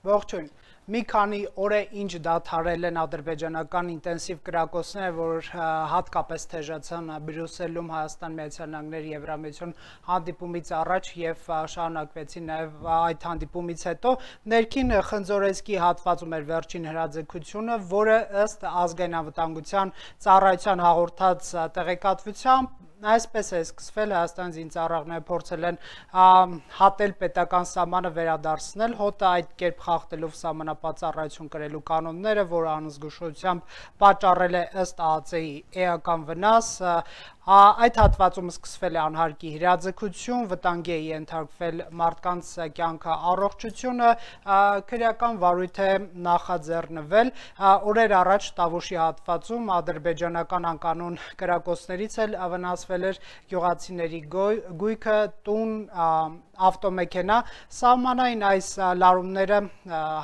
Ողջույն, մի քանի օր է ինչ դադարել են ադրբեջանական ինտենսիվ կրակոցները, որ հատկապես թեժացան Բրյուսելում Հայաստան, Միացյալ Նահանգներ, Եվրամիություն հանդիպումից առաջ եւ շարունակվեցին նաեւ այդ հանդիպումից հետո ներքին խնձորեսկի հատվածում էր վերջին հրաձգությունը, որը ըստ ազգային անվտանգության ծառայության հաղորդած տեղեկատվությամբ այսպես է սկսվել Հայաստանի զինծառայողները փորձել են հատել պետական սահմանը վերադարձնել, հոտը այդ կերպ խախտելով սահմանապահ ծառայություն կրելու կանոնները, որը անզգուշությամբ պատճառել է ըստ ԱԱԾ-ի էական վնաս, այդ հատվածում սկսվել է անհարկի հրաձգություն, վտանգի է ենթարկվել մարդկանց կյանքը, առողջությունը, քրեական վարույթ է նախաձեռնվել, օրեր առաջ Տավուշի հատվածում ադրբեջանական անկանոն կրակոցներից էլ վնասվել էր գյուղացիների գույքը, տուն, ավտոմեքենա, սահմանային այս լարումները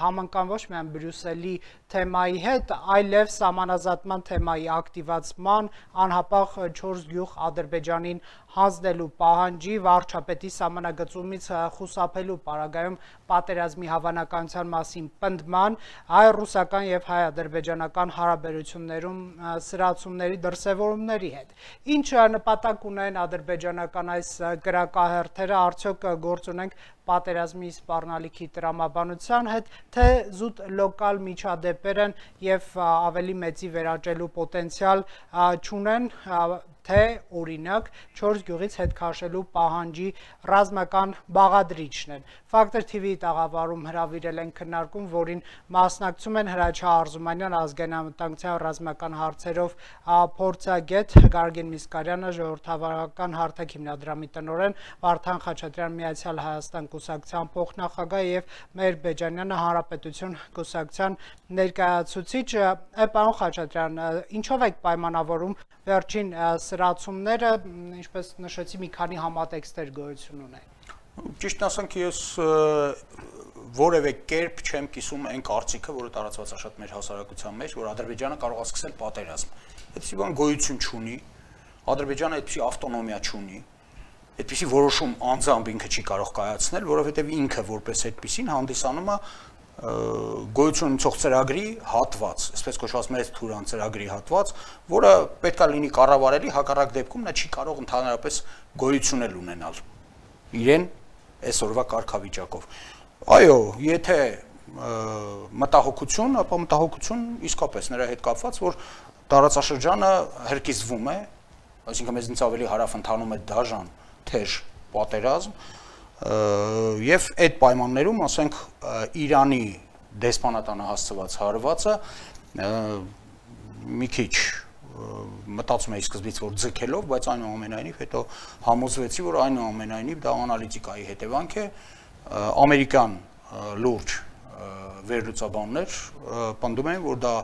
համընկան ոչ միայն Բրյուսելի թեմայի հետ, այլև սահմանազատման թեմայի ակտիվացման, անհապաղ 4 գյուղ Ադրբեջանին հանձնելու պահանջի, վարչապետի սահմանագծումից խուսափելու պարագայում պատերազմի հավանականության մասին պնդման, հայ-ռուսական եւ հայ-ադրբեջանական հարաբերություններում սրացումների դրսևորումների հետ։ Ինչ նպատակ ունեն ադրբեջանական այս կրակահերթերը, արդյոք գործ ունենք պատերազմի սպառնալիքի տրամաբանության հետ, թե զուտ լոկալ միջադեպեր են եւ ավելի մեծի վերաճելու պոտենցիալ չունեն, թե օրինակ 4 գյուղից հետ քաշելու պահանջի ռազմական բաղադրիչն են։ Ֆակտոր TV-ի տաղավարում հրավիրել են քննարկում, որին մասնակցում են Հրաչյա Արզումանյան, ազգային անվտանգության ռազմական հարցերով փորձագետ Գարգին Միսկարյանը, ժողովրդավարական հարթակ հիմնադրամի տնօրեն Վարդան Խաչատրյան, Միացյալ Հայաստան կուսակցության փոխնախագահ եւ Մհեր Բեջանյանը, Հանրապետություն կուսակցության ներկայացուցիչ։ Պարոն Խաչատրյան, ինչով եք պայմանավորում վերջին սրացումները, ինչպես նշեցի, մի քանի համատեքստեր գոյություն ունեն։ Ճիշտ ասենք, ես որևէ կերպ չեմ կիսում այն կարծիքը, որը տարածված է շատ մեր հասարակության մեջ, որ Ադրբեջանը կարող է սկսել պատերազմ։ Այդպիսի բան գոյություն չունի, Ադրբեջանը այդպիսի ավտոնոմիա չունի, այդպիսի որոշում անձամբ ինքը չի կարող կայացնել, որովհետև ինքը որպես այդպիսին հանդիսանում է գոյություն ունեցող ծրագրի հատված, այսպես կոչված մեր Թուրան ծրագրի հատված, որը պետք է լինի կառավարելի, հակառակ դեպքում նա չի կարող ընդհանրապես գոյություն ունենալ իրեն այսօրվա կարգավիճակով։ Այո, եթե մտահոգություն, ապա մտահոգություն իսկապես նրա հետ կապված, որ տարածաշրջանը հրկիզվում է, այսինքն մեզնից ավելի հարավ ընթանում է դաժան, թեժ պատերազմ, եւ այդ պայմաններում, ասենք, Իրանի դեսպանատանը հասցված հարվածը մի քիչ մտածում էի սկզբից, որ ձգելով, բայց այնուամենայնիվ հետո համոզվեցի, որ այնուամենայնիվ դա անալիտիկայի հետևանք է, ամերիկյան լուրջ վերլուծաբաններ պնդում են, որ դա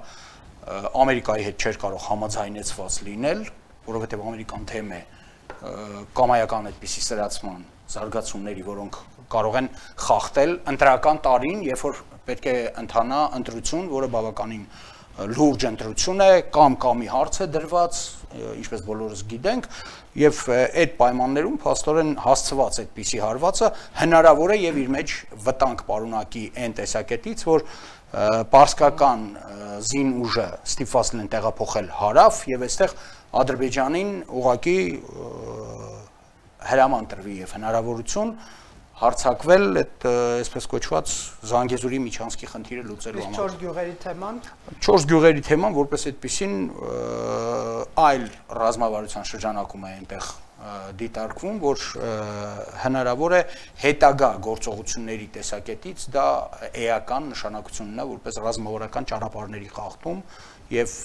Ամերիկայի հետ չէր կարող համաձայնեցված լինել, որովհետև ամերիկան թեմ է կամայական այդպիսի սրացման զարգացումների, որոնք կարող են խախտել ընտրական տարին, երբ որ պետք է ընթանա ընտրություն, որը բավականին լուրջ ընտրություն է, կամ-կամի հարց է դրված, ինչպես բոլորս գիտենք, եւ այդ պայմաններում փաստորեն հասցված այդպիսի հարվածը հնարավոր է եւ իր մեջ վտանգ պարունակի այն տեսակետից, որ պարսկական զին ուժը ստիպված են տեղափոխել հարավ եւ այստեղ Ադրբեջանին ուղղակի հրաման տրվի եւ հնարավորություն հարցակվել այդ այսպես կոչված Զանգեզուրի միջանցքի խնդիրը լուծելու համար։ 4 գյուղերի թեման 4 գյուղերի թեման որպես այդպեսին այլ ռազմավարության շրջանակում է այնտեղ դիտարկվում, որ հնարավոր է հետագա գործողությունների տեսակետից դա էական նշանակություն ունենա որպես ռազմավարական ճանապարհների խախտում եւ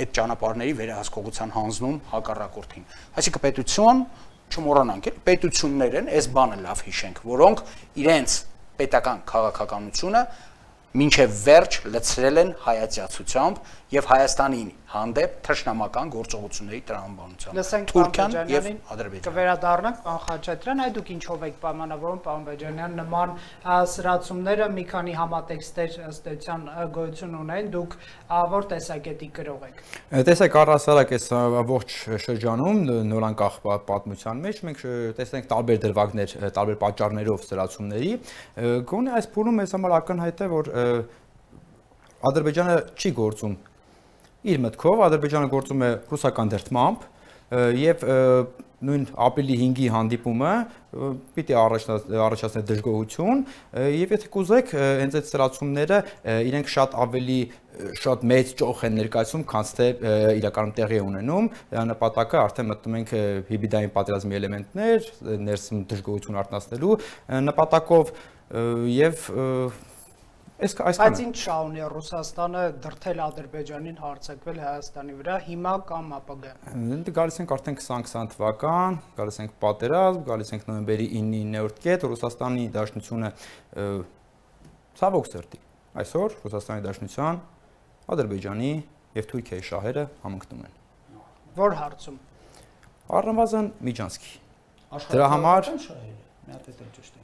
այդ ճանապարհների վերահսկողության հանձնում հակառակորդին։ Այսինքն պետություն չմոռանանք, պետություններ են, այս բանը լավ հիշենք, որոնք իրենց պետական քաղաքականությունը մինչև վերջ լցրել են հայացյացությամբ եւ Հայաստանին հանդեպ թշնամական գործողությունների տրամաբանությամբ։ Լսենք Թուրքիան եւ Ադրբեջանին Ադրբեջանը։ կվերադառնանք պարոն Խաչատրյան, այդ դուք ինչով եք պայմանավորում պարոն Բեջանյան նման սրացումները մի քանի համատեքստեր ըստ էության գոյություն ունեն, դուք որ տեսակետի կրող եք։ Տեսեք առհասարակ այս ողջ շրջանում նորանկախ պատմության մեջ մենք տեսնենք տարբեր դրվագներ, տարբեր պատճառներով սրացումների, գոնե այս փուլում մեզ համար ակնհայտ է, որ Ադրբեջանը չի գործում իր մտքով, Ադրբեջանը գործում է ռուսական դրդմամբ եւ նույն ապրիլի 5-ի հանդիպումը պիտի առաջացներ դժգոհություն եւ եթե կուզեք հենց այդ սրացումները իրենք շատ մեծ ճոխ են ներկայացում, քան թե իրականում տեղի ունենում, դրա նպատակը արդեն մտնում ենք հիբրիդային պատերազմի էլեմենտներ, ներսում դժգոհություն արտնասնելու նպատակով եւ Բայց ինչ շահ ունի Ռուսաստանը դրդել Ադրբեջանին հարձակվել Հայաստանի վրա հիմա կամ ապագայում։ Գալիս ենք արդեն 2020 թվական, գալիս ենք պատերազմ, գալիս ենք նոյեմբերի 9-րդ կետ, Ռուսաստանի Դաշնությունը ցավոք սրտի այսօր Ռուսաստանի Դաշնության, Ադրբեջանի եւ Թուրքիայի շահերը համընկնում են։ Որ հարցում։ Առնվազն Միջանցքի։ Դրա համար մի հատ էլ ճիշտ ենք։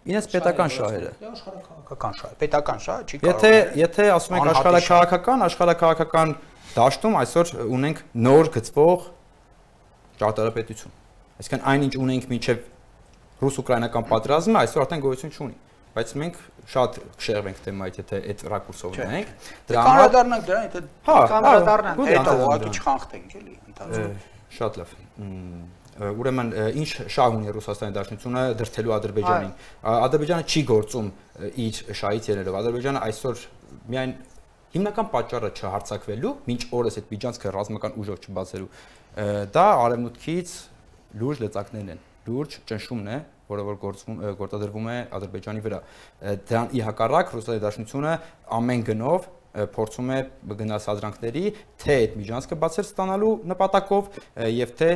Ինձ պետական շահերը։ Աշխարհակաղակական շահ, պետական շահը չի կարող։ Եթե ասում ենք աշխարհակաղակական դաշտում այսօր ունենք նոր գծվող ճարտարապետություն։ Այսինքն այնինչ ունենք մինչև ռուս-ուկրաինական պատերազմը այսօր արդեն գոյություն չունի, բայց մենք շատ կշեղվենք թեմայից, եթե այդ ռակուրսով ունենք։ Դրա համար դառնանք դրան, եթե կանրադառնանք, հետո ուղղակի չխանխտենք էլի ընթացքում։ Շատ լավ։ Ուրեմն ինչ շահ ունի Ռուսաստանի Դաշնությունը դրդելու Ադրբեջանին։ Ադրբեջանը չի գործում իր շահից ելնելով։ Ադրբեջանը այսօր միայն հիմնական պատճառը չհարցակվելու, մինչ օրս այդ միջանցքը ռազմական ուժով չբացելու, դա արևմուտքից լուրջ լծակներն են, լուրջ ճնշումն է, որը որ գործադրվում է Ադրբեջանի վրա։ Դրան ի հակառակ Ռուսաստանի Դաշնությունը ամեն գնով փորձում է գնալ սադրանքների, թե այդ միջանցքը բացել ստանալու նպատակով եւ թե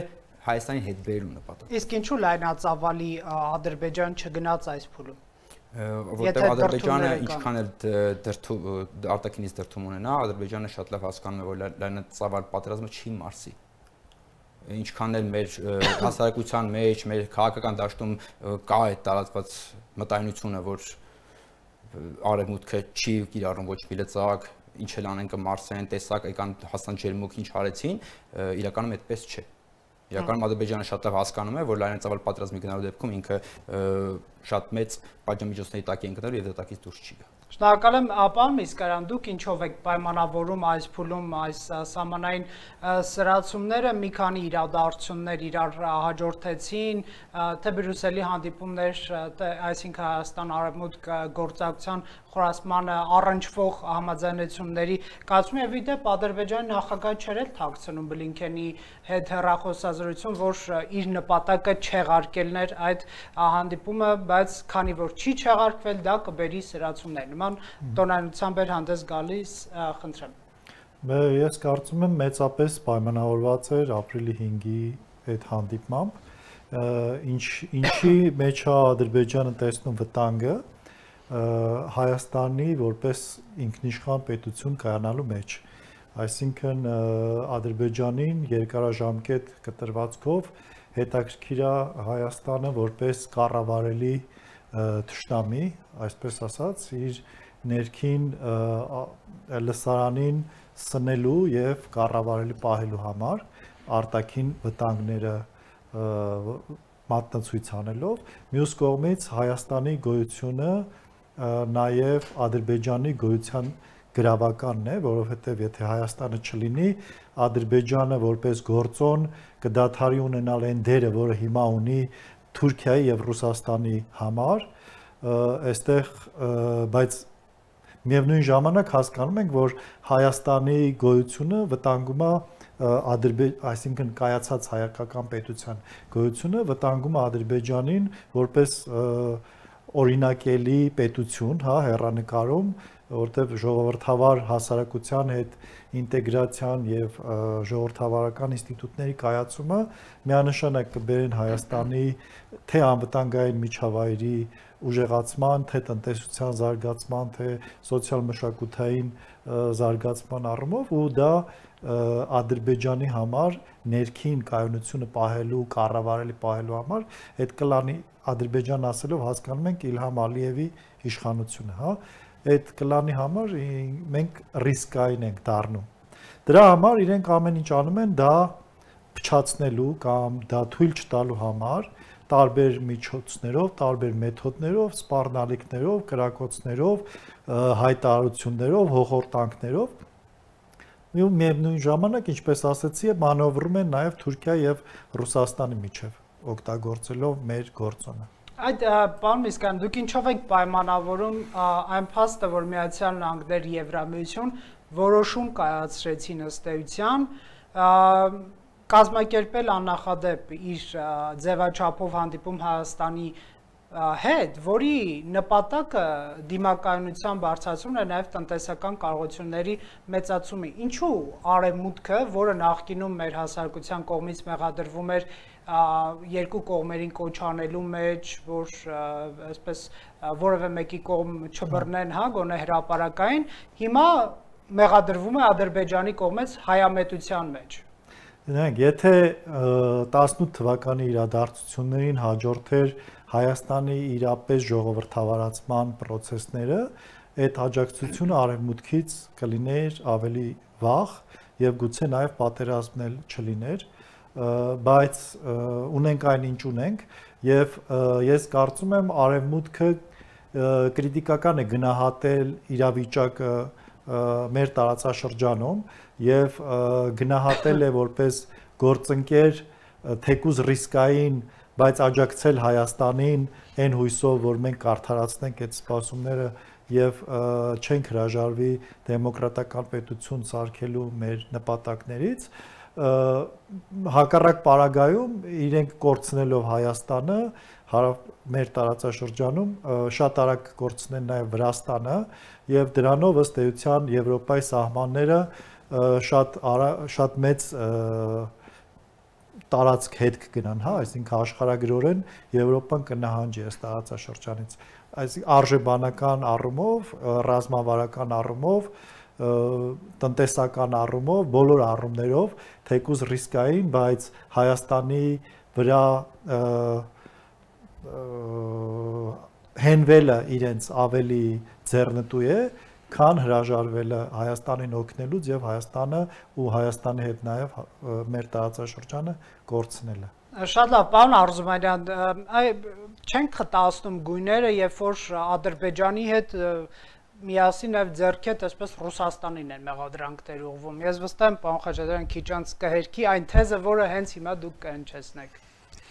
Հայաստանի հետ բերելու նպատակով։ Իսկ ինչու լայնածավալի Ադրբեջան չգնաց այս փուլում։ Որտեղ Ադրբեջանը ինչքան էլ արտաքինից դրդում ունենա, Ադրբեջանը շատ լավ հասկանում է, որ լայնածավալ պատերազմը չի մարսի։ Ինչքան էլ մեր հասարակության մեջ, մեր քաղաքական դաշտում կա այդ տարածված մտայնությունը, որ արևմուտքը չի կիրառում ոչ մի լծակ, ինչ էլ անեն կմարսեն, տեսակ եկան հասան ջերմուկ ինչ արեցին, իրականում այդպես չէ։ Իրականում Ադրբեջանը շատ լավ հասկանում է, որ լայնածավալ պատերազմի գնալու դեպքում ինքը շատ մեծ պատժամիջոցների տակ է ընկնելու եւ դա տակից դուրս չի գա։ Շնորհակալ եմ, պարոն Միսկարյան, դուք ինչով եք պայմանավորում այս փուլում այս սահմանային սրացումները, մի քանի իրադարձություններ իրար հաջորդեցին, թե Բրյուսելի հանդիպումներ, այսինքն Հայաստան արևմուտք գործակցության խորացմանը առնչվող համաձայնությունների կազմում եւ իդեպ Ադրբեջանի նախագահը չէր էլ թաքցնում Բլինքենի հետ հեռախոսազրույցում, որ իր նպատակը չեղարկելն էր այդ հանդիպումը, բայց քանի որ չի չեղարկվել, դա կբերի սրացումներ։ Նման տոնայնությամբ էր հանդես գալիս, խնդրեմ։ Ես կարծում եմ մեծապես պայմանավորված էր ապրիլի 5-ի այդ հանդիպմամբ, ինչի մեջ է Ադրբեջանը տեսնում վտանգը Հայաստանի որպես ինքնիշխան պետություն կայանալու մեջ։ Այսինքն Ադրբեջանին երկարաժամկետ կտրվածքով հետաքրքիր է Հայաստանը որպես կառավարելի թշնամի, այսպես ասած, իր ներքին լսարանին սնելու եւ կառավարելի պահելու համար արտաքին վտանգները մատնացույց անելով, մյուս կողմից Հայաստանի գոյությունը նաև Ադրբեջանի գոյության գրավականն է, որովհետև եթե Հայաստանը չլինի, Ադրբեջանը որպես գործոն կդադարի ունենալ այն դերը, որը հիմա ունի Թուրքիայի եւ Ռուսաստանի համար, այստեղ բայց միևնույն ժամանակ հասկանում ենք, որ Հայաստանի գոյությունը վտանգում է այսինքն կայացած հայկական պետության գոյությունը վտանգում է Ադրբեջանին որպես օրինակելի պետություն, հա, հեռանկարում որտեղ ժողովրդավար հասարակության հետ ինտեգրացիան եւ ժողովրդավարական ինստիտուտների կայացումը միանշանակ կբերեն Հայաստանի թե անվտանգային միջավայրի ուժեղացման, թե տնտեսության զարգացման, թե սոցիալ-մշակութային զարգացման առումով ու դա Ադրբեջանի համար ներքին կայունությունը պահելու, կառավարելի պահելու համար այդ կլանի Ադրբեջան ասելով հասկանում ենք Իլհամ Ալիևի իշխանությունը, հա, այդ կլանի համար մենք ռիսկային ենք դառնում։ Դրա համար իրենք ամեն ինչ անում են դա փչացնելու կամ դա թույլ չտալու համար տարբեր միջոցներով, տարբեր մեթոդներով, սպառնալիքներով, կրակոցներով, հայտարարություններով, հոխորտանքներով ու միևնույն ժամանակ, ինչպես ասացի, մանևրում են նաև Թուրքիա եւ Ռուսաստանի միջև, օգտագործելով մեր գործոնը։ Այդ պարոն Միսկյան, դուք ինչով եք պայմանավորում այն փաստը, որ Միացյալ Նահանգներ Եվրամիություն որոշում կայացրեցին ըստ էության կազմակերպել աննախադեպ իր ձևաչափով հանդիպում Հայաստանի հետ, որի նպատակը դիմակայունության բարձրացումն է նաև տնտեսական կարողությունների մեծացումը։ Ինչու արևմուտքը, որը նախկինում մեր հասարակության կողմից մեղադրվում էր երկու կողմերին կոչ անելու մեջ, որ այսպես որևէ մեկի կողմ չբռնեն, հա, գոնե հրապարակային, հիմա մեղադրվում է Ադրբեջանի կողմից հայամետության մեջ։ Դրանք, եթե 18 թվականի իրադարձություններին հաջորդեր Հայաստանի իրապես ժողովրդավարացման process-ները, այդ աջակցությունը արևմուտքից կլիներ ավելի վաղ եւ գուցե նաեւ պատերազմնել չլիներ, բայց ունենք այն ինչ ունենք եւ ես կարծում եմ արևմուտքը կրիտիկական է գնահատել իրավիճակը մեր տարածաշրջանում եւ գնահատել է որպես գործընկեր թեկուզ ռիսկային, բայց աջակցել Հայաստանին այն հույսով, որ մենք կարդարացնենք այդ սպասումները եւ չենք հրաժարվի դեմոկրատական պետություն սարքելու մեր նպատակներից, հակառակ պարագայում իրենք կորցնելով Հայաստանը, մեր տարածաշրջանում շատ արագ կորցնեն նաեւ Վրաստանը եւ դրանով ըստ էության Եվրոպայի սահմանները շատ մեծ տարածք հետ կգնան, հա, այսինքն աշխարհագրորեն Եվրոպան կնահանջի այս տարածաշրջանից, այսինքն արժեբանական առումով, ռազմավարական առումով, տնտեսական առումով, բոլոր առումներով, թեկուզ ռիսկային, բայց Հայաստանի վրա հենվելը իրենց ավելի ձեռնտու է, քան հրաժարվելը Հայաստանին օգնելուց եւ Հայաստանը ու Հայաստանի հետ նաեւ մեր տարածաշրջանը կորցնելը։ Շատ լավ, պարոն Արզումանյան, չենք խտացնում գույները, երբ որ Ադրբեջանի հետ միասին եւ ձեռքետ այսպես Ռուսաստանին են մեղադրանքներ ուղղվում։ Ես վստահ եմ, պարոն Խաչատրյան, քիչ անց կհերքի այն թեզը, որը հենց հիմա դուք կհնչեցնեք։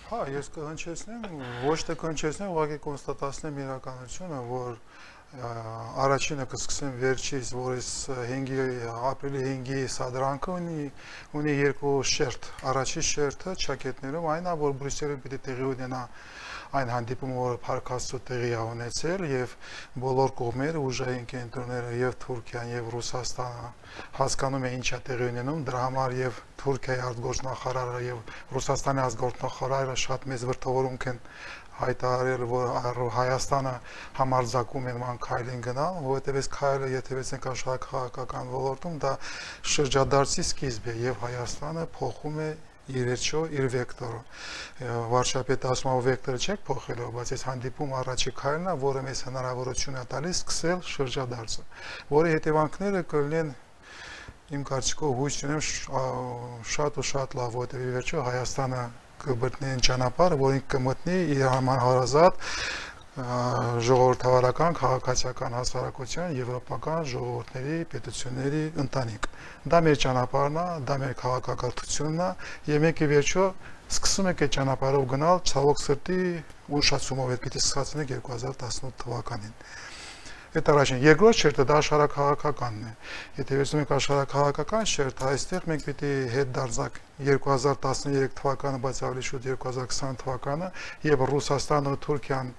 Հա, ես կհնչեցնեմ, ոչ թե կհնչեցնեմ, ուղղակի կոնստատացնեմ իրականությունը, որ առաջինը կսկսեմ վերջից, որ այս ապրիլի 5-ի սադրանքը ունի երկու շերտ։ Առաջի շերտը ճակետներում այն է, որ Բրյուսելը պիտի տեղի ունենա այն հանդիպումը, որը Փառք Աստծո տեղի է ունեցել եւ բոլոր կողմերը, ուժային կենտրոնները եւ Թուրքիան եւ Ռուսաստանը հասկանում են ինչ է տեղի ունենում, դրա համար եւ Թուրքիայի արտգործնախարարը եւ Ռուսաստանի արտգործնախարարը շատ մեծ վրթովորում են հայտարարել, որ Հայաստանը համարձակում է ման քայլին գնալ, որովհետև այս քայլը եթևեցնենք աշխարհակաղակական ոլորտում, դա շրջադարձի սկիզբ է եւ Հայաստանը փոխում է իր վեկտորը։ Վարչապետը ասում է, վեկտորը չեք փոխելու, բայց այս հանդիպում առաջի քայլն է, որը մեզ հնարավորություն է տալիս սկսել շրջադարձը, որի հետևանքները կլինեն իմ կարծիքով հույս ունեմ շատ ու շատ լավ, որովհետև ի վերջո Հայաստանը կմտնի ճանապարհը, որին կմտնի իր համահարազատ ժողովրդավարական, քաղաքացիական հասարակության, եվրոպական ժողովուրդների, պետությունների ընտանիք։ Դա մեր ճանապարհն է, դա մեր քաղաքակրթությունն է, եւ մենք ի վերջո սկսում ենք այդ ճանապարհով գնալ, ցավոք սրտի ուշացումով, այդ պիտի սկսենք 2018 թվականին։ Այդ առաջին, երկրորդ շերտը դա աշխարհաքաղաքականն է։ Եթե վերցնում ենք աշխարհաքաղաքական շերտը, այստեղ մենք պիտի հետ դարձանք 2013 թվականը, բայց ավելի շուտ 2020 թվականը, եւ Ռուսաստանը ու Թուրքիան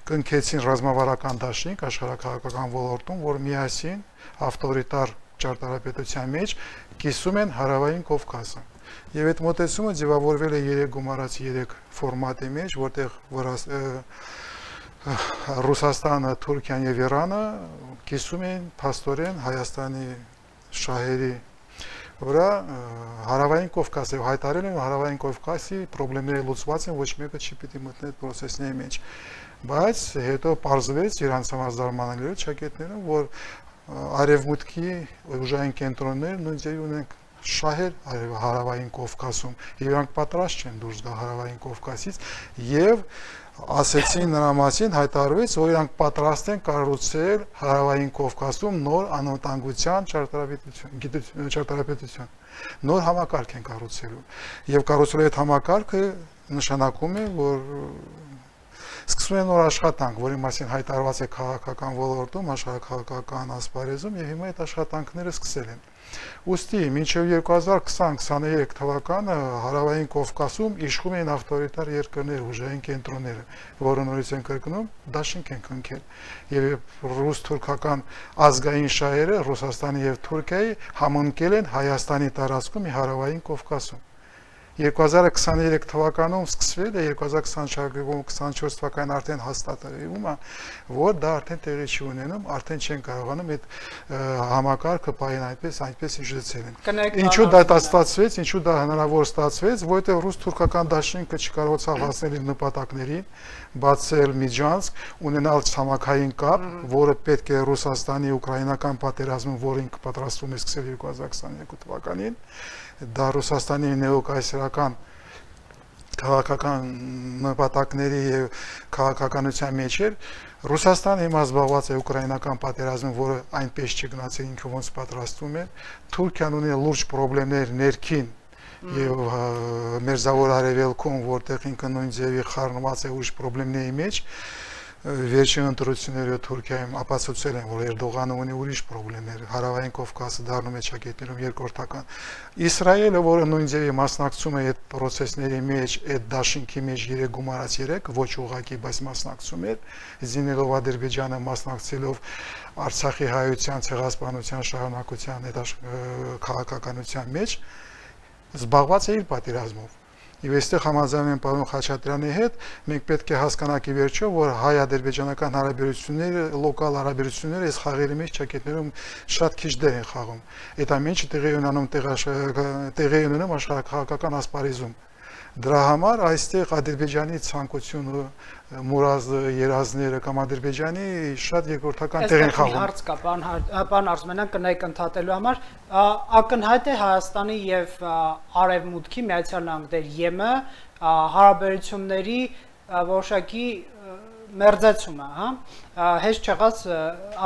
կնքեցին ռազմավարական դաշինք աշխարհաքաղաքական ոլորտում, որ միասին ավտորիտար ճարտարապետության մեջ կիսում են Հարավային Կովկասը։ Եվ այդ մոտեցումը ձևավորվել է 3 գումարած 3 ֆորմատի մեջ, որտեղ Ռուսաստանը, Թուրքիան եւ Իրանը կիսում են փաստորեն Հայաստանի շահերի վրա Հարավային Կովկասը հայտարարել են Հարավային Կովկասի խնդիրները լուծված են, ոչ մեկը չի պիտի մտնի այդ process-ների մեջ։ Բայց հետո պարզվեց իրանց համար զարմանալի ճակետները, որ արևմուտքի ուժային կենտրոններ նույն ձևի ունեն շահեր Հարավային Կովկասում, եւ իրանք պատրաստ չեն դուրս գալ Հարավային Կովկասից եւ ասեցին նրա մասին, հայտարարվեց, որ իրանք պատրաստ են կառուցել Հարավային Կովկասում նոր անվտանգության ճարտարապետություն, նոր համակարգ են կառուցելու եւ կառուցելու այդ համակարգը նշանակում է, որ սկսվում է նոր աշխատանք, որի մասին հայտարարված է քաղաքական ոլորտում, աշխարհաքաղաքական ասպարեզում եւ հիմա այդ աշխատանքները սկսել են։ Ուստի մինչև 2020-23 թվականը Հարավային Կովկասում իշխում էին ավտորիտար երկրներ, ուժային կենտրոնները, որը նորից են կրկնում, դաշինք են կնքել։ Եվ ռուս-թուրքական ազգային շահերը Ռուսաստանի եւ Թուրքիայի համընկել են Հայաստանի տարածքում եւ Հարավային Կովկասում։ 2023 թվականում սկսվել է, 2024 թվականին արդեն հաստատվում է, որ դա արդեն տեղի չի ունենում, արդեն չեն կարողանում այդ համակարգը պահել այնպես իջեցել են։ Ինչու դա ստացվեց, ինչու դա հնարավոր ստացվեց, որովհետև ռուս-թուրքական դաշինքը չկարողացավ հասնել իր նպատակներին, բացել Միջանցք, ունենալ ցամաքային կապ, որը պետք է Ռուսաստանի ուկրաինական պատերազմում, որը ինքը պատրաստվում է սկսել 2022 թվականին, դա Ռուսաստանի նեոկայսերական քաղաքական նպատակների եւ քաղաքականության մեջ էր։ Ռուսաստանը հիմա զբաղված է ուկրաինական պատերազմում, որը այնպես չգնացել ինքը ոնց պատրաստվում է։ Թուրքիան ունի լուրջ խնդիրներ ներքին եւ մերձավոր արևելքում, որտեղ ինքը նույն ձևի խառնված է ուրիշ խնդիրների մեջ։ Վերջին ընտրությունները Թուրքիայում ապացուցել են, որ Էրդողանը ունի ուրիշ խնդիրներ, Հարավային Կովկասը դառնում է ճակետներում երկրորդական։ Իսրայելը, որը նույն ձևի մասնակցում է այդ process-ների մեջ, այդ դաշինքի մեջ 3 գումարած 3, ոչ ուղղակի, բայց մասնակցում է, զինելով Ադրբեջանը, մասնակցելով Արցախի հայության ցեղասպանության շարունակության այդ քաղաքականության մեջ, զբաղված է իր պատերազմով։ Եվ այստեղ համաձայն եմ պարոն Խաչատրյանի հետ, մենք պետք է հասկանանք ի վերջո, որ հայ-ադրբեջանական հարաբերությունները, լոկալ հարաբերությունները այս խաղերի մեջ ճակետներում շատ քիչ դեր են խաղում։ Այդ ամենը տեղի ունենում աշխարհաքաղաքական ասպարեզում։ Դրա համար այստեղ Ադրբեջանի ցանկությունը, մուրազը, երազները կամ Ադրբեջանի շատ երկրորդական տեղ են խաղում։ Հարց կա, պարոն Արզումանյան, կնայք ընդհատելու համար, ակնհայտ է Հայաստանի եւ Արևմուտքի Միացյալ Նահանգների ԵՄ հարաբերությունների որոշակի մերձեցումը, հա, հեշտ չեղած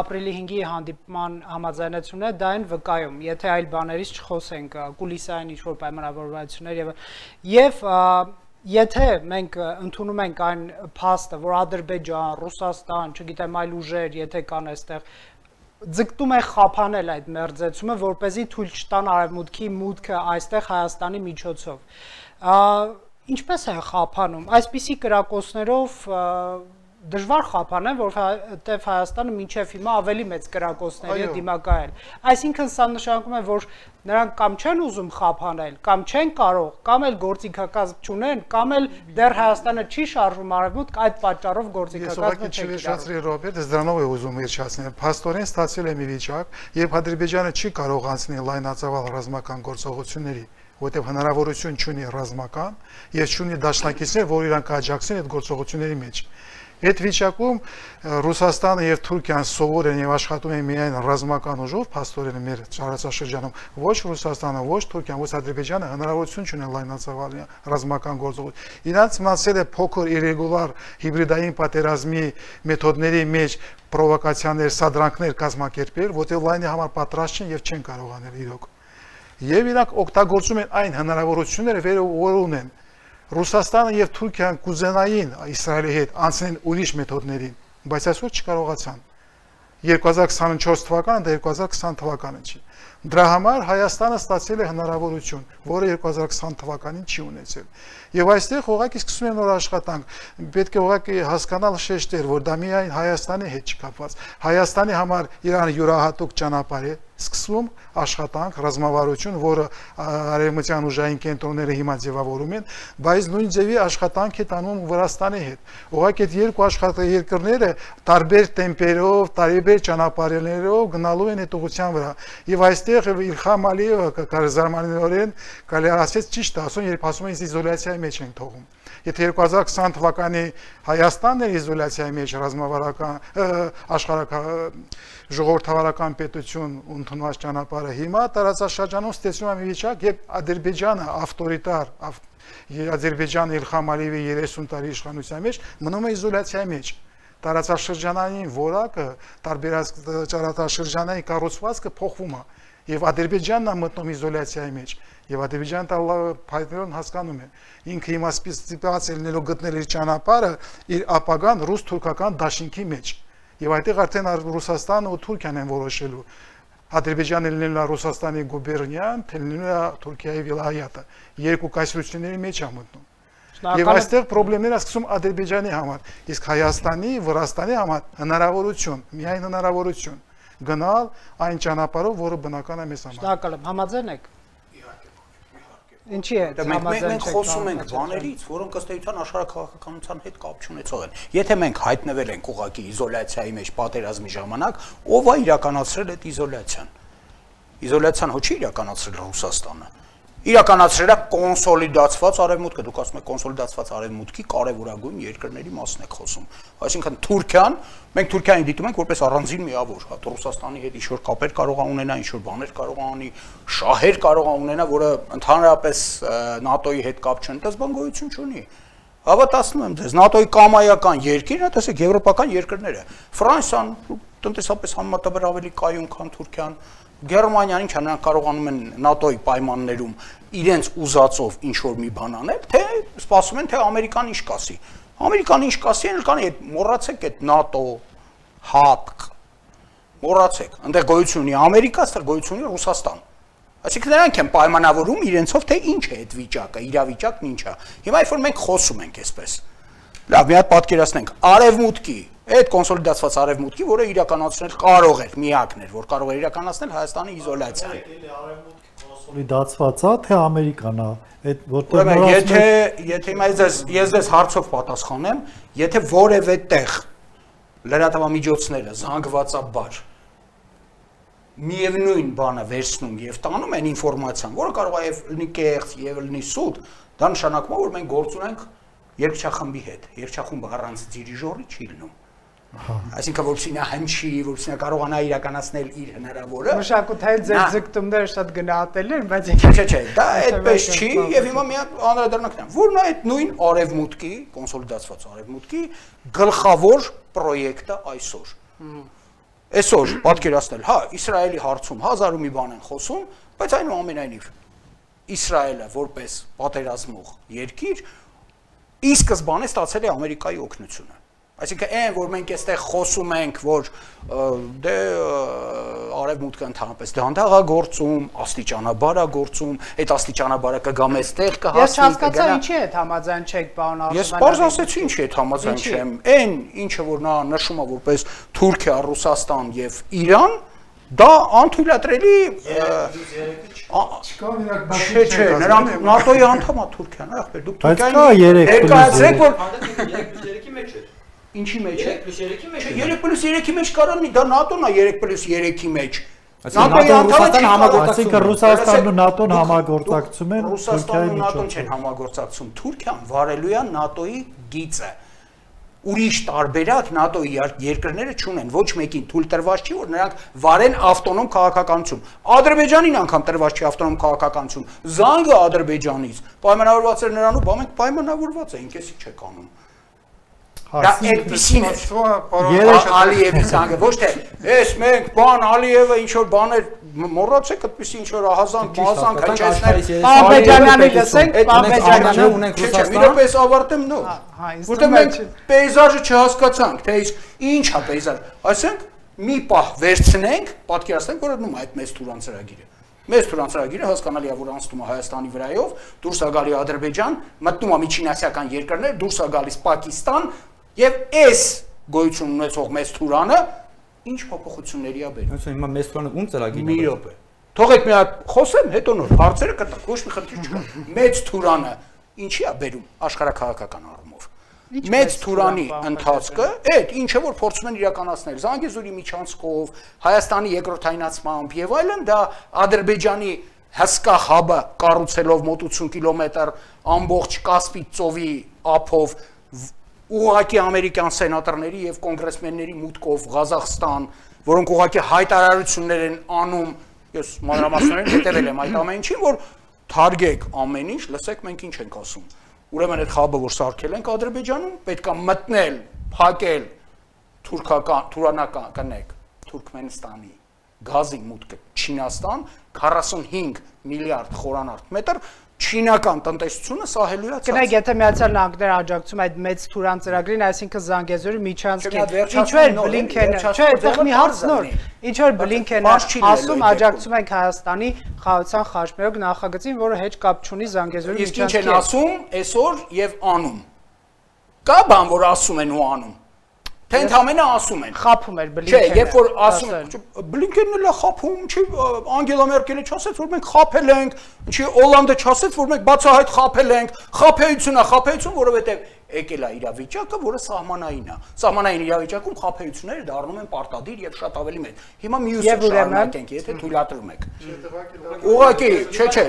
ապրիլի 5-ի հանդիպման համաձայնությունը դա են վկայում, եթե այլ բաներից չխոսենք, կուլիսային ինչ-որ պայմանավորվածություններ եւ եթե մենք ընդունում ենք այն փաստը, որ Ադրբեջան, Ռուսաստան, չգիտեմ այլ ուժեր, եթե կան այստեղ ձգտում է խափանել այդ մերձեցումը, որպեսզի թույլ չտան Արևմուտքի մուտքը այստեղ Հայաստանի միջոցով։ Ինչպես է խափանում։ Այսպիսի կրակոցներով դժվար խափանեն, որովհետև Հայաստանը մինչև հիմա ավելի մեծ կրակոցների է դիմակայել։ Այսինքն սա նշանակում է, որ նրանք կամ չեն ուզում խափանել, կամ չեն կարող, կամ էլ գործիքակազմ չունեն, կամ էլ դեռ Հայաստանը չի շարժվում արևմուտք, այդ պատճառով գործիքակազմը չի վերջացրի Ռոբերտ, դրանով է ուզում վերջացնել։ Փաստորեն ստացել է մի վիճակ, երբ Ադրբեջանը չի կարող անցնել լայնածավալ ռազմական գործողությունների, որտեղ հնարավորություն չունի ռազմական եւ չունի դաշնակիցներ, որ իրանք աջակցեն այդ գործողությունների մեջ։ Այդ վիճակում Ռուսաստանը եւ Թուրքիան սովոր են եւ աշխատում են միայն ռազմական ուժով, փաստորեն մեր տարածաշրջանում, ոչ Ռուսաստանը, ոչ Թուրքիան, ոչ Ադրբեջանը հնարավորություն չունեն լայնածավալ ռազմական գործողություն։ Իրանց մնացել է փոքր իրեգուլար հիբրիդային պատերազմի մեթոդների մեջ պրովոկացիաներ, սադրանքներ կազմակերպել, որտեղ լայնի համար պատրաստ չեն եւ չեն կարողանել իրոք։ Եվ իրանք օգտագործում են այն հնարավորությունները, որ ունեն։ Ռուսաստանը եւ Թուրքիան կուզենային Իսրայելի հետ անցնել ուրիշ մեթոդներին, բայց այսօր չկարողացան։ 2024 թվականը դա 2020 թվականը չի։ Դրա համար Հայաստանը ստացել է հնարավորություն, որը 2020 թվականին չի ունեցել։ Եվ այստեղ ուղղակի սկսում են նոր աշխատանք։ Պետք է ուղղակի հասկանալ շեշտեր, որ դա միայն Հայաստանի հետ չկապված։ Հայաստանի համար իրան յուրահատուկ ճանապարհ է սկսվում աշխատանք, ռազմավարություն, որը արևմտյան ուժային կենտրոնները հիմա ձևավորում են, բայց նույն ձևի աշխատանք է տանում Վրաստանի հետ։ Ուղղակի այդ երկու երկրները տարբեր տեմպերով, տարբեր ճանապարհներով գնալու են այդ ուղղության վրա։ Եվ այստեղ Իլհամ Ալիևը զարմանալիորեն կարելի ասած ճիշտ ասում, երբ ասում են իզոլյացիայի մեջ են թողում։ Եթե 2020 թվականի Հայաստանն էր իզոլյացիայի մեջ աշխարհական ժողովրդավարական պետություն ընդունված ճանապարհը, հիմա տարածաշրջանում ստեղծվում է մի վիճակ, երբ Ադրբեջանը ավտորիտար Ադրբեջանը Իլհամ Ալիևի 30 տարի իշխանության մեջ մնում է իզոլյացիայի մեջ։ Տարածաշրջանային որակը, տարածաշրջանային կառուցվածքը փոխվում է, եւ Ադրբեջանն է մտնում իզոլյացիայի մեջ, եւ Ադրբեջանը փայտերոն հասկանում է, ինքը հիմա սպասել լինելով գտնել իր ճանապարհը, իր ապագան ռուս-թուրքական դաշինքի մեջ, եւ այդտեղ արդեն Ռուսաստանը ու Թուրքիան են որոշելու, Ադրբեջանը լինելու է Ռուսաստանի գուբերնիան, թե լինելու է Թուրքիայի վիլայատը, երկու կայսրությունների մեջ է մտնում։ Եվ այստեղ խնդիրները սկսում Ադրբեջանի համար, իսկ Հայաստանի, Վրաստանի համար հնարավորություն, միայն հնարավորություն գնալ այն ճանապարհով, որը բնական է մեզ համար։ Շնորհակալ եմ, համաձայն եք։ Ինչի է համաձայն մենք խոսում ենք բաներից, որոնք ըստ էության աշխարհաքաղաքականության հետ կապ չունեցող են։ Եթե մենք հայտնվել ենք ուղղակի իզոլյացիայի մեջ պատերազմի ժամանակ, ով է իրականացրել այդ իզոլյացիան։ Իզոլյացիան ոչ իրականացրել Ռուսաստանը։ Իրականացրել է կոնսոլիդացված արևմուտքը, դուք ասում եք կոնսոլիդացված արևմուտքի կարևորագույն երկրների մասն եք խոսում։ Այսինքն Թուրքիան, մենք Թուրքիային դիտում ենք որպես առանձին միավոր, հա Ռուսաստանի հետ ինչ-որ կապեր կարող է ունենա, ինչ-որ բաներ կարող է անի, շահեր կարող է ունենա, որը ընդհանրապես ՆԱՏՕ-ի հետ կապ չունի, դա բան գոյություն չունի։ Հավատացնում եմ ձեզ, ՆԱՏՕ-ի կամայական երկիրն է, տեսեք եվրոպական երկրները, Ֆրանսիան տնտեսապես համեմատաբար ավելի կայուն, քան Թուրքիան, Գերմանիան ինչ նրանք կարողանում են ՆԱՏՕ-ի պայմաններում իրենց ուզածով ինչ-որ մի բան անել, թե սպասում են, թե Ամերիկան ինչ կասի։ Ամերիկան ինչ կասի, են կանի, մոռացեք այդ ՆԱՏՕ, ՀԱՏԿ, մոռացեք, այնտեղ գոյություն ունի Ամերիկա, այստեղ գոյություն ունի Ռուսաստան։ Այսինքն նրանք են պայմանավորում իրենցով, թե ինչ է այդ վիճակը, իրավիճակն ինչ է։ Հիմա երբ որ մենք խոսում ենք այսպես, լավ, մի հատ պատկերացնենք, արևմուտքի այդ կոնսոլիդացված արևմուտքի, որը իրականացնել կարող էր, միակն էր, որ կարող էր իրականացնել Հայաստանի իզոլյացիան։ Կոնսոլիդացված է, թե Ամերիկան է, այդ որտեղ եթե հիմա ես ձեզ հարցով պատասխանեմ, եթե որևէ տեղ լրատվամիջոցները զանգվածաբար միևնույն բանը վերցնում եւ տանում են ինֆորմացիան, որը կարող է լինի կեղծ եւ լինի սուտ, դա նշանակում է, որ մենք գործ ունենք երկչախմբի հետ։ Երկչախումբը առանց դիրիժորի չի լինում։ Այսինքն որպեսզի նա հնչի, որպեսզի նա կարողանա իրականացնել իր հնարավորը։ Մշակութային ձեր ձգտումները շատ գնահատելի են, բայց չէ, դա այդպես չի եւ հիմա մի հատ անդրադառնանք նա, որն է այդ նույն արևմուտքի, կոնսոլիդացված արևմուտքի գլխավոր պրոյեկտը այսօր։ Այսօր պատկերացնել, հա, Իսրայելի հարցում հազար ու մի բան են խոսում, բայց այնուամենայնիվ Իսրայելը որպես պատերազմող երկիր ի սկզբանե ստացել է Ամերիկայի օգնությունը։ Այսինքն այն, որ մենք այստեղ խոսում ենք, որ դե արևմուտքը ընդհանրապես դանդաղ է գործում, աստիճանաբար է գործում, այդ աստիճանաբարը կգա մեզ տեղ կհասնի։ Ես հասկացա ինչի է համաձայն չեք, պարոն Արսենալյան։ Ես բարձ ասեցի ինչի է համաձայն չեմ։ Այն ինչը որ նա նշում է որպես Թուրքիա, Ռուսաստան եւ Իրան, դա անթույլատրելի չէ, նրանք ՆԱՏՕ-ի անդամ է Թուրքիան, ախպեր, դուք Թուրքիային ներկայացրեք, որ ինչի մեջ է 3+3-ի մեջ է 3+3-ի մեջ կարողանի դա ՆԱՏՕ-ն է 3+3-ի մեջ Այսինքն Ռուսաստանն ու ՆԱՏՕ-ն համագործակցում են Ռուսաստանն ու ՆԱՏՕ-ն չեն համագործակցում Թուրքիան վարելու է ՆԱՏՕ-ի գիծը ուրիշ տարբերակ ՆԱՏՕ-ի երկրները չունեն ոչ մեկին թույլ տրված չի որ նրանք վարեն ավտոնոմ քաղաքականություն Ադրբեջանին անգամ տրված չի ավտոնոմ քաղաքականություն Զանգը Ադրբեջանից պայմանավորված էր նրանով բա մենք պայմանավորված էինք էսի չեք անում Դա այդպեսին է Ալիևի զանգը ոչ թե ես մենք բան Ալիևը ինչ որ բաներ մոռացեք այդպեսի ինչ որ ահազանգ մազանգ հնչեցնել Աբեջանյանի լսենք Աբեջանյանը ունենք Ռուսաստան Իրապես ավարտեմ նո որտեղ մենք պեյզաժը չհասկացանք թե ինչ է պեյզաժ ասենք մի պահ վերցնենք, պատկերացնենք, որ դնում այդ մեծ Թուրան ծրագիրը։ Մեծ Թուրան ծրագիրը հասկանալի է, որ անցնում է Հայաստանի վրայով, դուրս է գալի Ադրբեջան, մտնում է միջինասիական երկրներ, դուրս է գալիս Պակիստան, եւ այս գոյություն ունեցող մեծ Թուրանը ինչ փոփոխությունների է բերում։ Ոնց հիմա մեծ Թուրանը ում ծրագիրն է։ Մի րոպե։ Թողեք մի հատ խոսեմ, հետո նոր հարցերը կտակ, ոչ մի խնդիր չկա։ Մեծ Թուրանը ինչի է բերում աշխարհաքաղաքական առումով։ Մեծ Թուրանի ընթացքը, այդ ինչը որ փորձում են իրականացնել Զանգեզուրի միջանցքով, Հայաստանի երկրորդայնացմամբ եւ այլն, դա Ադրբեջանի հսկա հաբը կառուցելով մոտ 80 կիլոմետր ամբողջ Կասպից ծովի ափով ուղղակի ամերիկյան սենատորների եւ կոնգրեսմենների մուտքով Ղազախստան, որոնք ուղղակի հայտարարություններ են անում, ես մանրամասներեն հետևել եմ այդ ամեն ինչին, որ թարգեք ամեն ինչ, լսեք մենք ինչ ենք ասում։ Ուրեմն այդ խաբը որ սարքել ենք Ադրբեջանում, պետք է մտնել, փակել թուրքական կնեք Թուրքմենստանի գազի մուտքը Չինաստան 45 միլիարդ խորանարդ մետր չինական տնտեսությունը սահելու է ցած։ Գնայք, եթե Միացյալ Նահանգները աջակցում այդ մեծ Թուրան ծրագրին, այսինքն Զանգեզուրի միջանցքին, ինչու էր Բլինքենը, չէ, այդտեղ մի հարց նոր, ինչու էր Բլինքենը ասում աջակցում ենք Հայաստանի խաղաղության խաչմերուկ նախագծին, որը հետ կապ չունի Զանգեզուրի միջանցքին։ Իսկ ինչ են ասում այսօր եւ անում։ Կա բան, որ ասում են ու անում։ Թե ընդամենը ասում են։ Խափում էր Բլինքենը։ Չէ, երբ որ ասում, Բլինքենն էլ է խափում, չի Անգելա Մերկելը չասեց, որ մենք խափել ենք, չի Օլանդը չասեց, որ մենք բացահայտ խափել ենք, խափեություն է, խափեություն, որովհետև եկել է իրավիճակը, որը սահմանային է։ Սահմանային իրավիճակում խափեությունները դառնում են պարտադիր եւ շատ ավելի մեծ։ Հիմա մյուսը շարունակենք, եթե թույլատրում եք։ Ուղղակի, չէ,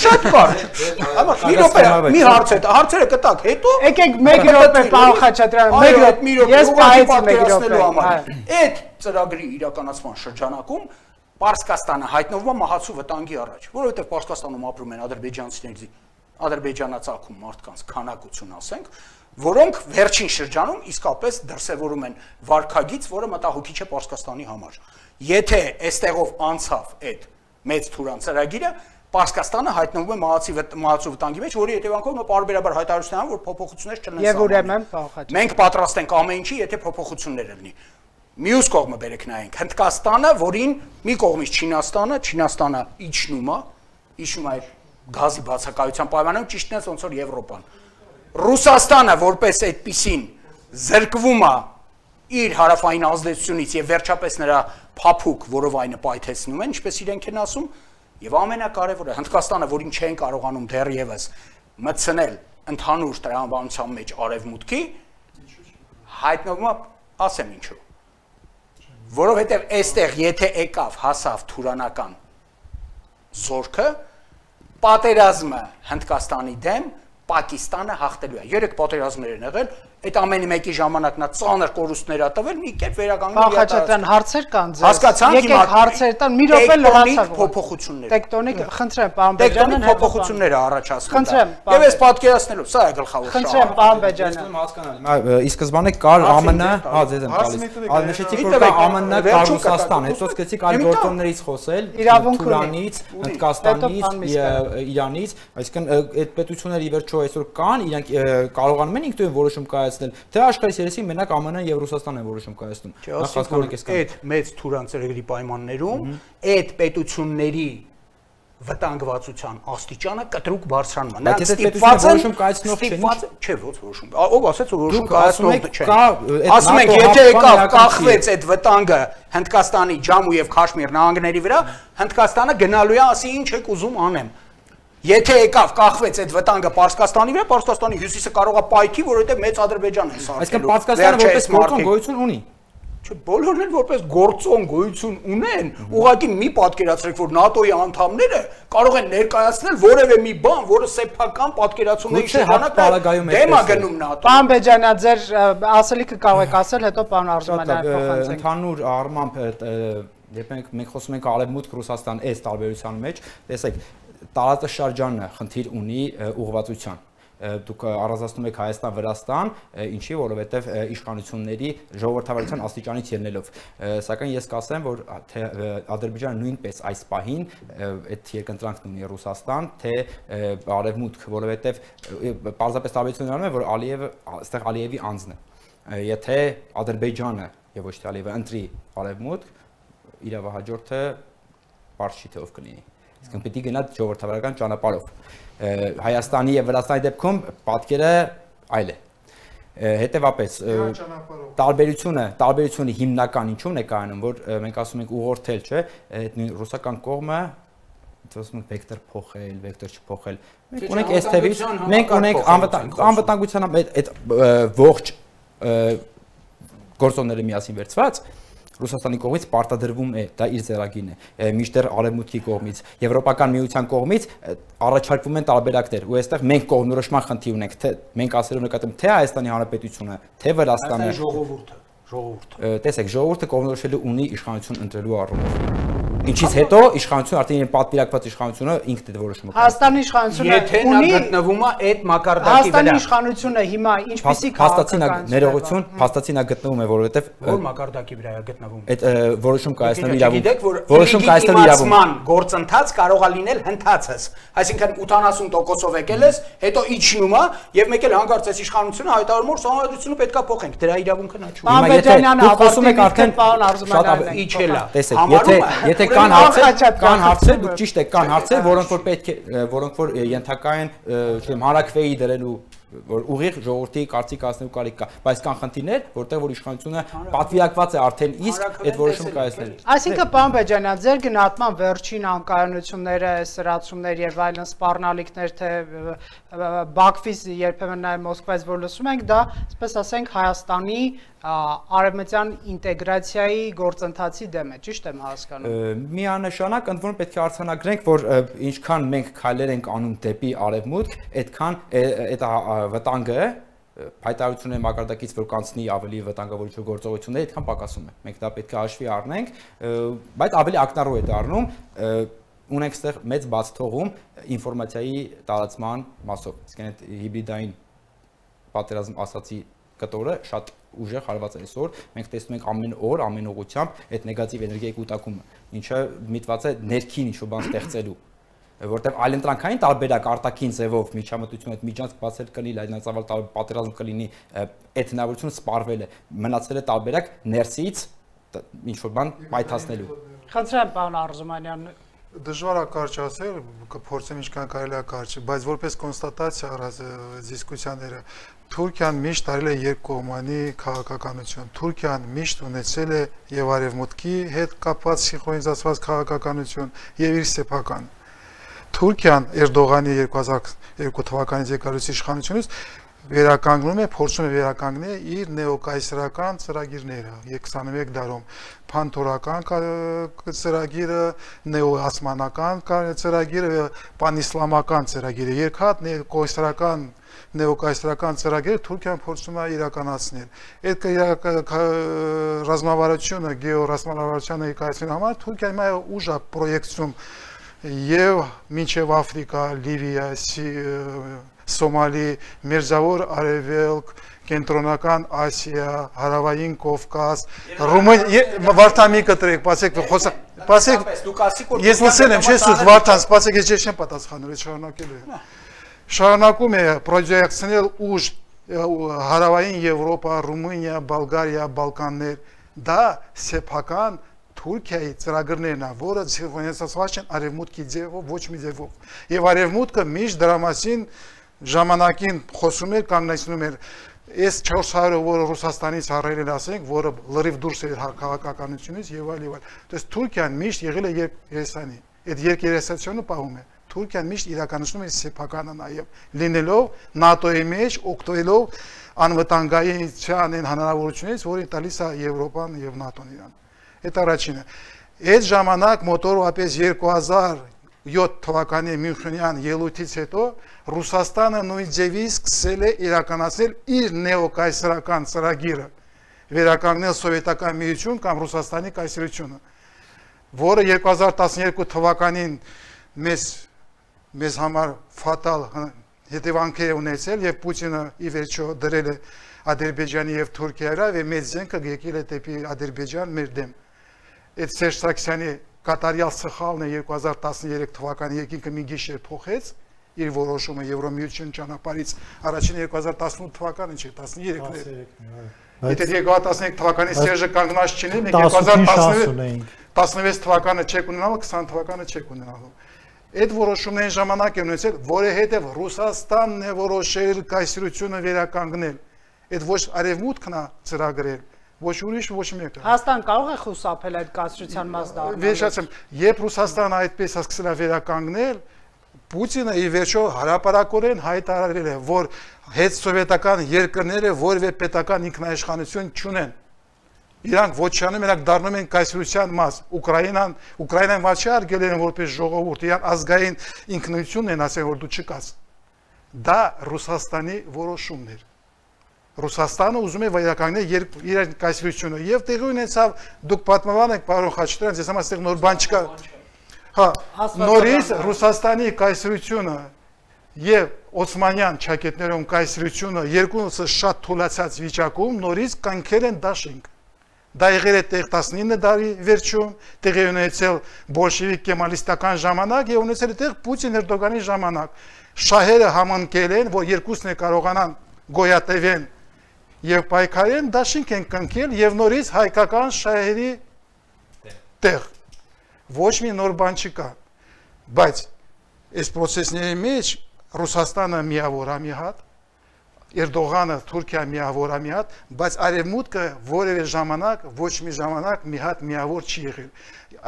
շատ կարճ։ Այո, մի րոպե, մի հարց է, հարցերը կտակ, հետո եկեք 1 րոպե պարոն Խաչատրյան, 1 րոպե, ես պահեցի 1 րոպե։ Այդ ծրագրի իրականացման շրջանակում Պարսկաստանը հայտնվում է մահացու վտանգի առաջ, որովհետև Պարսկաստանում ապրում են ադրբեջանցիների ադրբեջանացակում մարդկանց քանակություն ասենք, որոնք վերջին շրջանում իսկապես դրսևորում են վարքագիծ, որը մտահոգիչ է Պարսկաստանի համար։ Եթե այստեղով անցավ այդ մեծ Թուրան ծրագիրը, Պարսկաստանը հայտնվում է մահացու վտանգի մեջ, որի հետևանքով նա պարբերաբար հայտարարություն անում, որ փոփոխություններ չլինեն։ Եվ ուրեմն փոխած։ Մենք պատրաստ ենք ամեն ինչի, եթե փոփոխություններ լինի։ Մյուս կողմը բերեք նայենք, Հնդկաստանը, որին մի կողմից Չինաստանը իջնում է գազի բացակայության պայմաններում ճիշտն է ոնց որ Եվրոպան։ Ռուսաստանը որպես այդպիսին զրկվում է իր հարավային ազդեցությունից եւ վերջապես նրա փափուկ որովայնը պայթեցնում են, ինչպես իրենք են ասում, եւ ամենակարևորը Հնդկաստանը, որին չեն կարողանում դեռևս մտցնել ընդհանուր տրամաբանության մեջ արևմուտքի, հայտնվում է, ասեմ ինչու։ Որովհետեւ այստեղ եթե եկավ հասավ թուրանական զորքը, պատերազմը Հնդկաստանի դեմ Պակիստանը հաղթելու է։ 3 պատերազմներ են եղել, այդ ամենի մեկի ժամանակ նա ծանր կորուստներ ա տվել, մի կերպ վերականգնել։ Խաչատրյան, հարցեր կան ձեզ։ Հասկացանք, եկեք հարցեր տան, մի րոպե լրացավ։ Փոփոխություններ։ Տեկտոնիկ, խնդրեմ, պարոն Բեջանյան, փոփոխությունները առաջացնում։ Խնդրեմ, եւ այս պատկերացնելով, սա է գլխավոր շահը։ Խնդրեմ, պարոն Բեջանյան։ Հասկանալի։ Ի սկզբանե կար ԱՄՆ, հա, ձեզ եմ տալիս։ Նշեցիք, որ կա ԱՄՆ, կար Ռուսաստան, հետո սկսեցիք այլ գործոններից խոսել, Թուրանից, Հնդկաստանից, Իրանից, այսինքն այդ պետությունները ի վերջո այսօր կան, իրենք կարողանում են ինքնուրույն որոշում կայացնել, թե աշխարհի երեսին մենակ ԱՄՆ-ն եւ Ռուսաստանն են որոշում կայացնում։ Այդ մեծ Թուրան ծրագրի պայմաններում այդ պետությունների վտանգվածության աստիճանը կտրուկ բարձրանում է։ Բայց եթե պետությունը որոշում կայացնող չէ, ոչ որոշում։ Ով ասեց որ որոշում կայացնող չէ։ Ասում ենք, եթե եկավ կախվեց այդ վտանգը Հնդկաստանի Ջամու եւ Քաշմիր նահանգների վրա, Հնդկաստանը գնալու է ասի ինչ եք ուզում անեմ։ Եթե եկավ կախվեց այդ վտանգը Պարսկաստանի վրա, Պարսկաստանի հյուսիսը կարող է պայթի, որովհետեւ մեծ Ադրբեջան է սարքելու։ Այսինքն Պարսկաստանը որպես գործոն գոյություն ունի։ Չէ, բոլորն էլ որպես գործոն գոյություն ունեն, ուղղակի մի պատկերացրեք, որ ՆԱՏՕ-ի անդամները կարող են ներկայացնել որևէ մի բան, որը սեփական պատկերացումների շրջանակում դեմ է գնում ՆԱՏՕ։ Պարոն Բեջանյան, ձեր ասելիքը կարող եք ասել, հետո պարոն Արզումանյանը փոխանցենք։ Ընդհանուր առմամբ երբ մենք խոսում ենք Արևմուտք Ռուսաստան այս տարբերության մեջ, տեսեք, տարածաշրջանը խնդիր ունի ուղղվածության։ Դուք առանձնացնում եք Հայաստան-Վրաստան, ինչի, որովհետև իշխանությունների ժողովրդավարության աստիճանից ելնելով։ Սակայն ես կասեմ, որ թե Ադրբեջանը նույնպես այս պահին այդ երկընտրանքն ունի Ռուսաստան, թե Արևմուտք, որովհետև պարզապես տարբերությունն անում է, որ այստեղ Ալիևի անձն է։ Եթե Ադրբեջանը եւ ոչ թե Ալիևը ընտրի արևմուտք, իրավահաջորդը բարձ չի թե ով կլինի։ Իսկ պետք է գնա ժողովրդավարական ճանապարհով։ Հայաստանի եւ Վրաստանի դեպքում պատկերը այլ է։ Հետևապես տարբերությունը հիմնական ինչու՞մն է կայանում, որ մենք ասում ենք ուղղորդել, չէ, այդ ռուսական կողմը ասում ենք վեկտոր փոխել, վեկտոր չփոխել։ Մենք ունենք այս թևից, մենք ունենք անվտանգության այդ ողջ գործոնները միասին վերցված Ռուսաստանի կողմից պարտադրվում է, դա իր ձեռագիրն է, մինչդեռ Արևմուտքի կողմից, Եվրոպական միության կողմից առաջարկվում են տարբերակներ, ու այստեղ մենք կողմնորոշման խնդիր ունենք, թե մենք ասելով նկատում թե Հայաստանի Հանրապետությունը, թե Վրաստանը, ժողովուրդը։ Տեսեք, ժողովուրդը կողմնորոշելու ունի իշխանություն ընտրելու առումով։ Ինչից հետո իշխանությունը արդեն պատվիրակված իշխանությունը ինքն է որոշումը։ Հայաստանի իշխանությունը եթե նա գտնվում է այդ մակարդակի վրա։ Հայաստանի իշխանությունը հիմա ինչպեսի ներողություն, փաստացի նա գտնվում է, որովհետև որ մակարդակի վրա է գտնվում։ Այդ որոշում կայացնելու իրավունք։ Որոշում կայացնելու իրավունք գործընթաց կարող է լինել հնդածս։ Այսինքն 80%-ով եկել ես, հետո իջնում է եւ մեկ էլ հանկարծ այս իշխանությունը հայտարարում որ սահմանադրությունը պետքա փոխենք։ Դրա իրավունքը նա չունի։ Հիմա եթե դուք խոսում եք արդեն շատ իջել է։ Տեսեք, եթե կան հարցեր, դուք ճիշտ եք, կան հարցեր, որոնք որ պետք է, որոնք որ ենթակա են, չգիտեմ, հանրակրվեի դրելու որ ուղիղ ժողովրդի կարծիք ասնելու կարիք կա, բայց կան խնդիրներ, որտեղ որ իշխանությունը պատվիրակված է արդեն իսկ այդ որոշումը կայացնելու։ Այսինքն, պարոն Բեջանյան, ձեր գնահատման վերջին անկայունությունները, սրացումներ եւ այլն սպառնալիքներ, թե Բաքվից երբեմն նաեւ Մոսկվայից որ լսում ենք, դա, այսպես ասենք, Հայաստանի արևմտյան ինտեգրացիայի գործընթացի դեմ է, ճիշտ եմ հասկանում։ Միանշանակ ընդ որում պետք է արձանագրենք, որ ինչքան մենք քայլեր ենք անում դեպի արևմուտք, այդքան այդ վտանգը հայտարարությունների մակարդակից որ կանցնի ավելի վտանգավորություն գործողություններ, այդքան պակասում է։ Մենք դա պետք է հաշվի առնենք, բայց ավելի ակնառու է դառնում ունենք այստեղ մեծ բաց թողում ինֆորմացիայի տարածման մասով։ Իսկ այդ հիբրիդային պատերազմ ասացի կտորը շատ ուժեղ հարված է այսօր, մենք տեսնում ենք ամեն օր, ամեն ուղղությամբ այդ նեգատիվ էներգիայի կուտակումը, ինչը միտված է ներքին ինչ-որ բան ստեղծելու, որտեղ այլընտրանքային տարբերակ արտաքին ձևով միջամտություն այդ միջանցք բացել կլինի, լայնածավալ պատերազմ կլինի, այդ հնարավորությունը սպառվել է, մնացել է տարբերակ ներսից ինչ-որ բան պայթացնելու։ Խնդրեմ, պարոն Արզումանյան, դժվար է կարճ ասել, կփորձեմ ինչքան կարելի է կարճ, բայց որպես կոնստատացիա առած դիսկուսիաները, Թուրքիան միշտ արել է երկկողմանի քաղաքականություն։ Թուրքիան միշտ ունեցել է եւ արևմուտքի հետ կապված սինխրոնիզացված քաղաքականություն եւ իր սեփական։ Թուրքիան Էրդողանի 2002 թվականից եկալուց իշխանությունից վերականգնում է, փորձում է վերականգնել իր նեոկայսերական ծրագիրները 21 դարում, փանթորական ծրագիրը, նեոհասմանական ծրագիրը, պանիսլամական ծրագիրը, երկհատ նեոկայսերական ծրագիրը Թուրքիան փորձում է իրականացնել։ Այդ ռազմավարությունը, գեոռազմավարության ներկայացնելու համար Թուրքիան հիմա ուժ է պրոյեկցում եւ մինչեւ Աֆրիկա, Լիվիա, Սոմալի, Մերձավոր Արևելք, Կենտրոնական Ասիա, Հարավային Կովկաս, Ռումինիա, Վարդան մի կտրեք, սպասեք, ես լսել եմ, չես ուզ Վարդան, սպասեք, ես չեմ պատասխանել, շարունակելու եմ։ Շարունակում է պրոյեկցնել ուժ Հարավային Եվրոպա, Ռումինիա, Բուլղարիա, Բալկաններ, դա սեփական Թուրքիայի ծրագրներն է, որը սինխրոնիզացված են արևմուտքի ձևով, ոչ մի ձևով։ Եվ արևմուտքը միշտ դրա մասին ժամանակին խոսում էր, կանգնեցնում էր այս 400-ը, որը Ռուսաստանից առել են, ասենք, որը լրիվ դուրս էր քաղաքականությունից եւ այլ եւ այլ։ Դες Թուրքիան միշտ եղել է երկերեսանի։ Այդ երկերեսությունը պահում է։ Թուրքիան միշտ իրականացնում է սեփականը նաեւ լինելով ՆԱՏՕ-ի մեջ, օգտվելով անվտանգային հնարավորությունից, որին տալիս է Եվրոպան եւ ՆԱՏՕ-ն իրան։ Այդ առաջինը։ Այդ ժամանակ մոտորապես 2007 թվականի Մյունխենյան ելույթից հետո Ռուսաստանը նույն ձևի սկսել է իրականացնել իր նեոկայսերական ծրագիրը, վերականգնել սովետական միություն կամ Ռուսաստանի կայսրությունը, որը 2012 թվականին մեզ համար ֆատալ հետևանքեր է ունեցել եւ Պուտինը ի վերջո դրել է Ադրբեջանի եւ Թուրքիայի եւ մեծ զենքը եկել է դեպի Ադրբեջան մեր դեմ։ Այդ Սերժ Սարգսյանի կատարյալ սխալն է 2013 թվականի երկինքը մի գիշեր փոխեց իր որոշումը Եվրոմիություն ճանապարհից առաջին 2018 թվականը չէ 13-ն Եթե 2015 թվականի Սերժը կանգնած չինի, մենք 2016 թվականը չեք ունենալու, 20 թվականը չեք ունենալու։ Այդ որոշումների ժամանակ են ունեցել, որովհետև Ռուսաստանն է որոշել կայսրությունը վերականգնել։ Այդ ոչ արևմուտքն է ծրագրել, ոչ ուրիշ ոչ մեկը։ Հայաստան կարող է խուսափել այդ կայսրության մաս դառնալու։ Վերջացեմ, երբ Ռուսաստանը այդպես սկսել է վերականգնել, Պուտինը ի վերջո հարաբերակորեն հայտարարել է, որ հետսովետական երկրները որևէ պետական ինքնաիշխանություն չունեն։ Իրանք ոչանում են, դառնում են կայսրության մաս։ Ուկրաինան ոչ արգել են որպես ժողովուրդ, իրան ազգային ինքնությունն են ասել, որ դու չկաս։ Դա Ռուսաստանի որոշումն էր։ Ռուսաստանը ուզում է վերականգնել իր կայսրությունը եւ տեղի ունեցավ, դուք պատմաբան եք, պարոն Խաչատրյան, ես համաձայն նոր բան չկա։ Հա, նորից Ռուսաստանի կայսրությունը եւ Օսմանյան ճակետներում կայսրությունը երկուսը շատ թուլացած վիճակում նորից կանքել են դաշինք։ Դա եղել է տեղ 19 դարի վերջում, տեղի ունեցել բոլշևիկ կեմալիստական ժամանակ եւ ունեցել է տեղ Պուտին Էրդոգանի ժամանակ։ Շահերը համընկել են, որ երկուսն է կարողանան գոյատևեն եւ պայքարեն, դաշինք են կնքել եւ նորից հայկական շահերի տեղ։ Ոչ մի նոր բան չկա, բայց այս process-ների մեջ Ռուսաստանը միավոր է մի հատ, Էրդողանը Թուրքիա միավոր է մի հատ, բայց արևմուտքը որևէ ժամանակ, ոչ մի ժամանակ մի հատ միավոր չի եղել։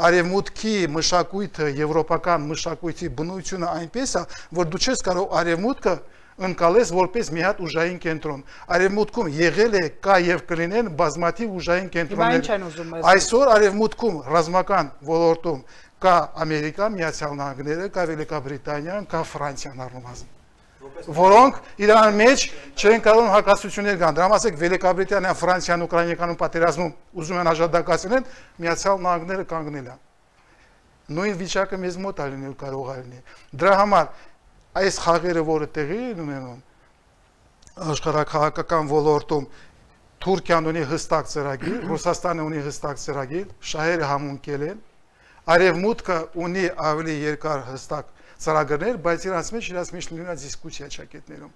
Արևմուտքի մշակույթը, եվրոպական մշակույթի բնությունը այնպես է, որ դու չես կարող արևմուտքը ընկալես որպես մի հատ ուժային կենտրոն։ Արևմուտքում եղել է, կա եւ կլինեն բազմաթիվ ուժային կենտրոններ։ Այսօր արևմուտքում ռազմական ոլորտում կա Ամերիկան, Միացյալ Նահանգները, կա Վելիկաբրիտանիան, կա Ֆրանսիան առնվազն, որոնք իրար մեջ չեն կարող հակասություններ կան։ Դրա մասեք Վելիկաբրիտանիան, Ֆրանսիան, Ուկրաինայական պատերազմում ուզում են աշխատակցել, Միացյալ Նահանգները կանգնել են։ Նույն վիճակը մեզ մոտ է լինել կարող է լինել։ Դրա համար այս խաղերը, որը տեղի են ունենում աշխարհաքաղաքական ոլորտում, Թուրքիան ունի հստակ ծրագիր, Ռուսաստանը ունի հստակ ծրագիր, շահերը համընկել են, Արևմուտքը ունի ավելի երկար հստակ ծրագրեր, բայց իրանց մեջ լինում է դիսկուսիա ճակետներում։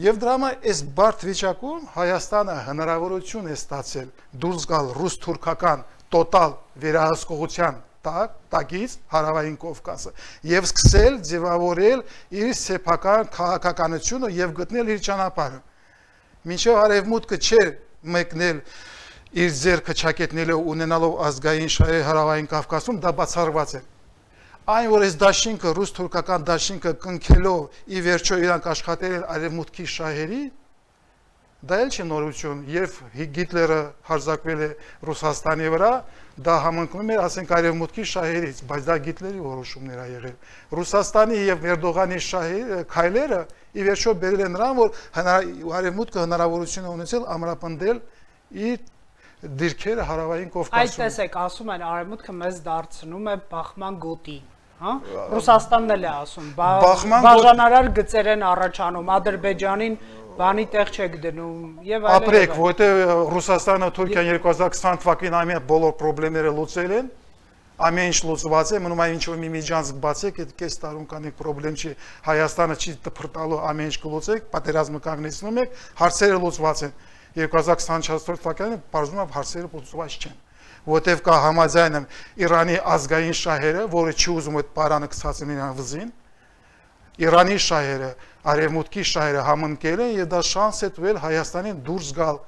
Եվ դրա համար այս բարդ վիճակում Հայաստանը հնարավորություն է ստացել դուրս գալ ռուս-թուրքական տոտալ վերահսկողության տակից հարավային Կովկասը եւ սկսել ձևավորել իր սեփական քաղաքականությունը եւ գտնել իր ճանապարհը։ Մինչեւ արևմուտքը չէր մեկնել իր ձեռքը ճակետներով ունենալով ազգային շահեր հարավային Կովկասում, դա բացառված է։ Այն որ այս դաշինքը ռուս-թուրքական դաշինքը կնքելով ի վերջո իրանք աշխատել են արևմուտքի շահերի, դա էլ չի նորություն, երբ Հիտլերը հարձակվել է Ռուսաստանի վրա, դա համընկնում էր, ասենք, արևմուտքի շահերից, բայց դա Հիտլերի որոշումներ ա եղել։ Ռուսաստանի եւ Էրդողանի քայլերը ի վերջո բերել են նրան, որ արևմուտքը հնարավորություն է ունեցել ամրապնդել իր դիրքերը հարավային Կովկասում։ Այդ տեսեք, ասում են արևմուտքը մեզ դարձնում է բախման գոտի, հա? Ռուսաստանն էլ է ասում, բաժանարար գծեր են առաջանում, Ադրբեջանին բանի տեղ չեք դնում եւ այլն։ Ապրեք, որտեղ Ռուսաստանը Թուրքիան 2020 թվականին ամեն բոլոր խնդիրները լուծել են, ամեն ինչ լուծված է, մնում է ինչ-որ մի միջանցք բացեք, այդ կես տարում կանեք խնդրեմ չի, Հայաստանը չի դփրտալու ամեն ինչ կլուծեք, պատերազմը կանգնեցնում եք, հարցերը լուծված են։ 2024 թվականին բարձում է հարցերը լուծված չեն, որտեղ կա համաձայնը Իրանի ազգային շահերը, որը չի ուզում այդ պարանը գցածին իրան վզին, Իրանի շահերը, արևմուտքի շահերը համընկել են եւ դա շանս է տվել Հայաստանին դուրս գալ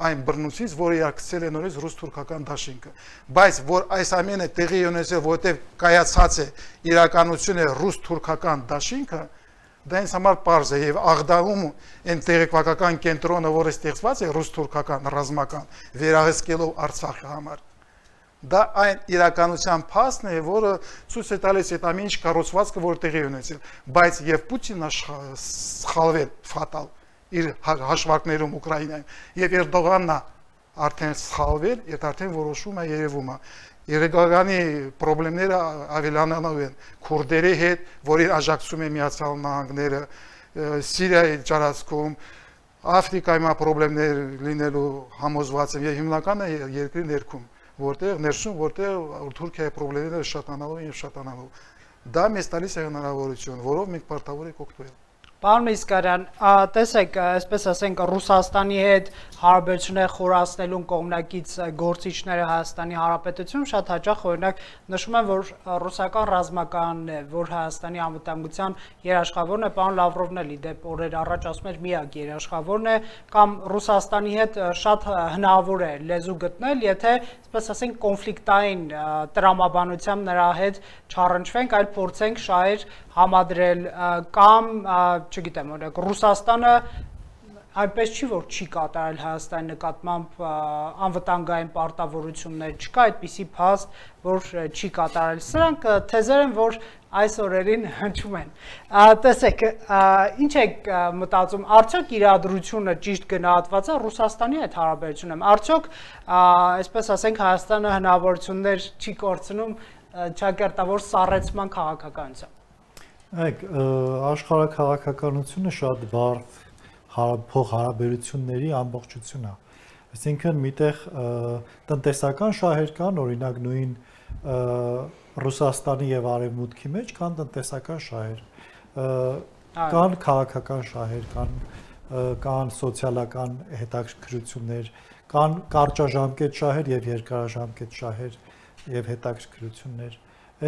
այն բռնուցից, որը իարկցել է նորից ռուս-թուրքական դաշինքը։ Բայց որ այս ամենը տեղի ունեցել, որտեղ կայացած է իրականությունը ռուս-թուրքական դաշինքը, դա ինձ համար պարզ է եւ Աղդամում այն տեղեկատվական կենտրոնը, որը ստեղծված է ռուս-թուրքական ռազմական վերահսկելով Արցախի համար, դա այն իրականության փաստն է, որը ցույց է տալիս այդ ամեն ինչ կառուցվածքը, որ տեղի ունեցել, բայց եւ Պուտինը սխալվել ֆատալ իր հաշվարկներում Ուկրաինայում եւ Էրդողանն արդեն սխալվել, այդ արդեն որոշում է երևում է։ Երեգանի խնդիրները ավելանալու են քուրդերի հետ, որին աջակցում է Միացյալ Նահանգները, Սիրիայի ջարածքում, Աֆրիկայում խնդիրներ լինելու համոզված են եւ հիմնականը երկրի ներքում, որտեղ ներսում, որտեղ Թուրքիայի խնդիրները շատանալու եւ շատանալու։ Դա մեզ տալիս է հնարավորություն, որով մենք պարտավոր ենք օգտվել։ Պարոն Միսկարյան, տեսեք, այսպես ասենք, Ռուսաստանի հետ հարաբերությունները խորացնելուն կողմնակից գործիչները Հայաստանի Հանրապետությունում շատ հաճախ օրինակ նշում են, որ ռուսական ռազմականն է, որ Հայաստանի անվտանգության երաշխավորն է, պարոն Լավրովն էլ իդեպ օրեր առաջ ասում էր միակ երաշխավորն է, կամ Ռուսաստանի հետ շատ հնարավոր է լեզու գտնել, եթե, այսպես ասենք, կոնֆլիկտային տրամաբանությամբ նրա հետ չառնչվենք, այլ փորձենք շահեր համադրել կամ չգիտեմ, օրինակ Ռուսաստանը այնպես չի, որ չի կատարել Հայաստանի նկատմամբ անվտանգային պարտավորություններ, չկա այդպիսի փաստ, որ չի կատարել։ Սրանք թեզեր են, որ այս օրերին հնչում են։ Տեսեք, ինչ եք մտածում, արդյոք իրադրությունը ճիշտ գնահատված է Ռուսաստանի հետ հարաբերությունում։ Արդյոք, այսպես ասենք, Հայաստանը հնարավորություններ չի կորցնում ճակերտավոր սառեցման քաղաքականությամբ։ Այգ աշխարհաքաղաքականությունը շատ բարդ փոխհարաբերությունների ամբողջություն է։ Այսինքն միտեղ տնտեսական շահեր կան, օրինակ նույն Ռուսաստանի եւ Արևմուտքի մեջ կան տնտեսական շահեր, կան քաղաքական շահեր, կան սոցիալական հետաքրքրություններ, կան կարճաժամկետ շահեր եւ երկարաժամկետ շահեր եւ հետաքրքրություններ։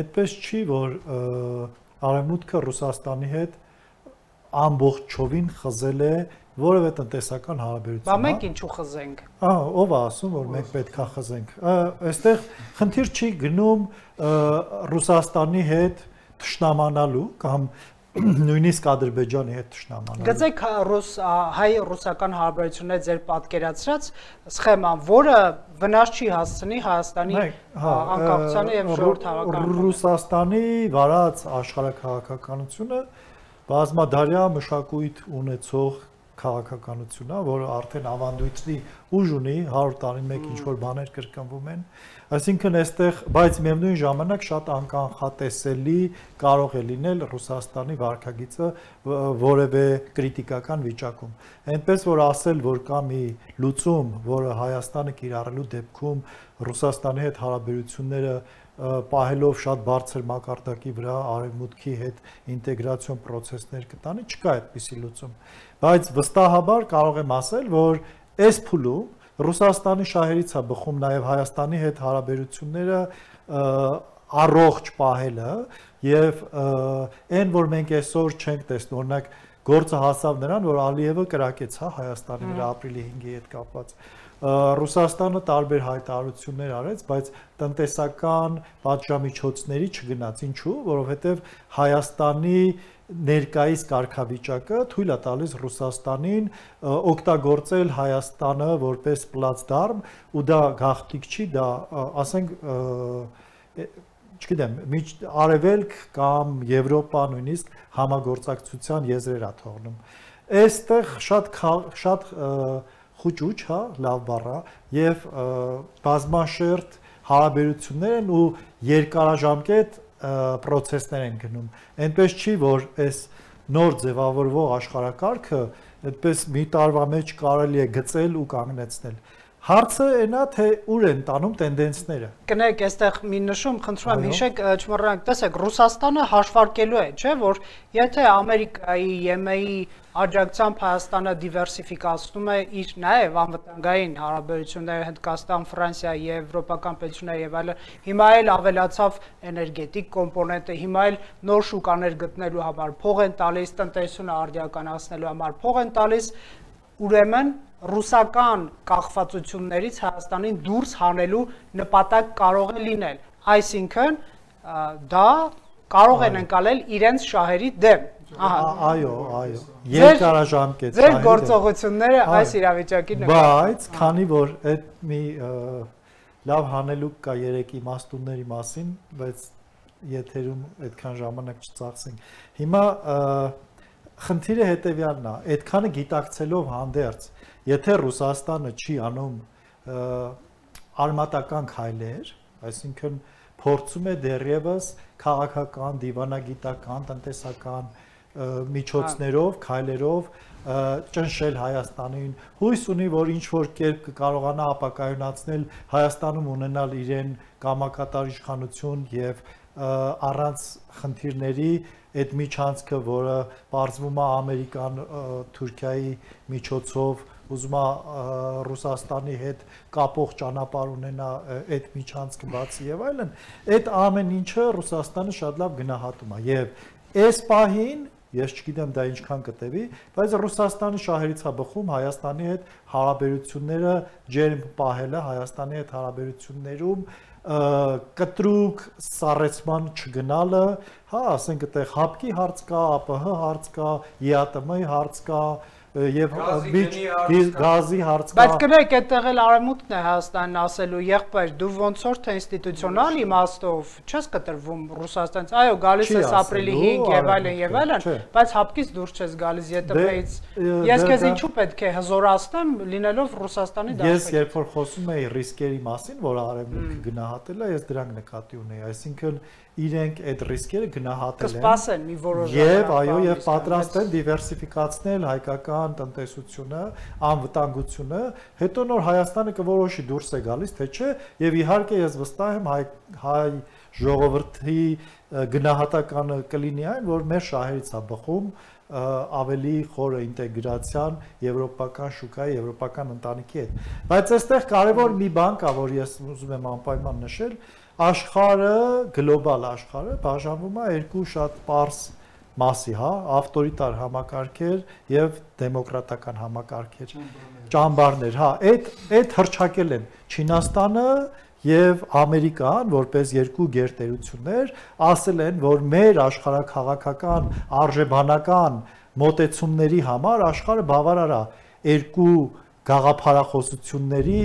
Այդպես չի, որ Արևմուտքը Ռուսաստանի հետ ամբողջովին խզել է որևէ տնտեսական հարաբերություն։ Բա մենք ինչու խզենք։ Ով է ասում, որ մենք պետք է խզենք։ Այստեղ խնդիր չի գնում Ռուսաստանի հետ թշնամանալու կամ նույնիսկ Ադրբեջանի հետ թշնամանալու։ Գծեք հայ-ռուսական հարաբերությունները ձեր պատկերացրած սխեման, որը վնաս չի հասցնի Հայաստանի անկախությանը եւ ժողովրդավարականությանը։ Ռուսաստանի վարած աշխարհաքաղաքականությունը բազմադարյա մշակույթ ունեցող քաղաքականություն է, որը արդեն ավանդույթի ուժ ունի, 100 տարին մեկ ինչ-որ բաներ կրկնվում են, այսինքն այստեղ, բայց միևնույն ժամանակ շատ անկանխատեսելի կարող է լինել Ռուսաստանի վարքագիծը որևէ կրիտիկական վիճակում։ Այնպես որ ասել, որ կա մի լուծում, որը Հայաստանը կիրառելու դեպքում Ռուսաստանի հետ հարաբերությունները պահելով շատ բարձր մակարդակի վրա արևմուտքի հետ ինտեգրացիոն process-ներ կտանի, չկա այդպիսի լուծում։ Բայց վստահաբար կարող եմ ասել, որ այս փուլում Ռուսաստանի շահերից է բխում նաև Հայաստանի հետ հարաբերությունները առողջ պահելը եւ այն, որ մենք այսօր չենք տեսնում, օրինակ գործը հասավ նրան, որ Ալիևը կրակեց Հայաստանի վրա ապրիլի 5-ի հետ կապված։ Ռուսաստանը տարբեր հայտարարություններ արեց, բայց տնտեսական պատժամիջոցների չգնաց։ Ինչու՞, որովհետև Հայաստանի ներկայիս կարգավիճակը թույլ է տալիս Ռուսաստանին օգտագործել Հայաստանը որպես պլացդարմ, ու դա գաղտնիք չի, դա ասենք չգիտեմ, Արևելք կամ Եվրոպա նույնիսկ համագործակցության եզրեր է թողնում։ Այստեղ շատ խուճուճ, հա, լավ բառ է, եւ բազմաշերտ հարաբերություններ են ու երկարաժամկետ process-ներ են գնում։ Այնպես չի, որ այս նոր ձևավորվող աշխարհակարգը այդպես մի տարվա մեջ կարելի է գծել ու կանգնեցնել։ Հարցը այնա, թե ուր են տանում տենդենսները։ Կներեք, այստեղ մի նշում, խնդրում եմ հիշեք, չմոռանանք, տեսեք, Ռուսաստանը հաշվարկելու է, չէ՞, որ եթե Ամերիկայի, ԵՄ-ի աջակցությամբ Հայաստանը դիվերսիֆիկացնում է իր նաև անվտանգային հարաբերությունները Հնդկաստան, Ֆրանսիա, Եվրոպական պետություններ եւ այլն, հիմա էլ ավելացավ էներգետիկ կոմպոնենտը, հիմա էլ նոր շուկաներ գտնելու համար փող են տալիս, տնտեսությունը արդիականացնելու համար փող են տալիս, ուրեմն ռուսական կախվածություններից Հայաստանին դուրս հանելու նպատակ կարող է լինել, այսինքն դա կարող են ընկալել իրենց շահերի դեմ։ Այո, երկարաժամկետ ձեր գործողությունները այս իրավիճակի նկատմամբ։ Բայց քանի որ այդ մի լավ հանելուկ կա 3 իմաստունների մասին, բայց եթերում այդքան ժամանակ չծախսենք։ Հիմա խնդիրը հետեւյալն է, այդքանը գիտակցելով հանդերձ, եթե Ռուսաստանը չի անում արմատական քայլեր, այսինքն փորձում է դեռևս քաղաքական, դիվանագիտական, տնտեսական միջոցներով, քայլերով ճնշել Հայաստանին, հույս ունի, որ ինչ որ կերպ կկարողանա ապակայունացնել Հայաստանում ունենալ իրեն կամակատար իշխանություն եւ առանց խնդիրների այդ միջանցքը, որը բարձվում է Ամերիկան, Թուրքիայի միջոցով, ուզում է Ռուսաստանի հետ կապող ճանապարհ ունենա այդ միջանցքը բացի եւ այլն, այդ ամեն ինչը Ռուսաստանը շատ լավ գնահատում է եւ այս պահին ես չգիտեմ դա ինչքան կտևի, բայց Ռուսաստանի շահերից է բխում Հայաստանի հետ հարաբերությունները ջերմ պահելը, Հայաստանի հետ հարաբերություններում կտրուկ սառեցման չգնալը, հա, ասենք այդտեղ հապկի հարց կա, ԱՊՀ հարց կա, ԵԱՏՄ-ի հարց կա, եւ գազի հարց կա։ Բայց գրեք այդտեղ էլ արևմուտքն է Հայաստանն ասելու եղբայր դու ոնց որ թե ինստիտուցիոնալ իմաստով չես կտրվում Ռուսաստանից այո գալիս ես ապրիլի 5 եւ այլն բայց հապկից դուրս չես գալիս ԵՏՄ-ից ես քեզ ինչու պետք է հզորացնեմ լինելով Ռուսաստանի դաշտում Ես երբ որ խոսում եի ռիսկերի մասին որ արևմուտքը գնահատել է ես դրանք նկատի ունեի այսինքն իրենք այդ ռիսկերը գնահատել են կսպասեն մի որոշ եւ այո եւ պատրաստ են դիվերսիֆիկացնել հայկական տնտեսությունը անվտանգությունը հետո նոր Հայաստանը կորոշի դուրս է գալիս թե չէ եւ իհարկե ես վստահ եմ հայ ժողովրդի գնահատականը կլինի այն որ մեր շահերից է բխում ավելի խորը ինտեգրացիան եվրոպական շուկայի եվրոպական ընտանիքի հետ բայց այստեղ կարևոր մի բան կա որ ես ուզում եմ անպայման նշել աշխարհը գլոբալ աշխարհը բաժանվում է երկու շատ պարզ մասի, հա, ավտորիտար համակարգեր եւ դեմոկրատական համակարգեր, ճամբարներ, հա, այդ հրճակել են Չինաստանը եւ Ամերիկան, որպես երկու գերտերություններ, ասել են, որ մեր աշխարհաքաղաքական արժեբանական մոտեցումների համար աշխարհը բավարար է երկու գաղափարախոսությունների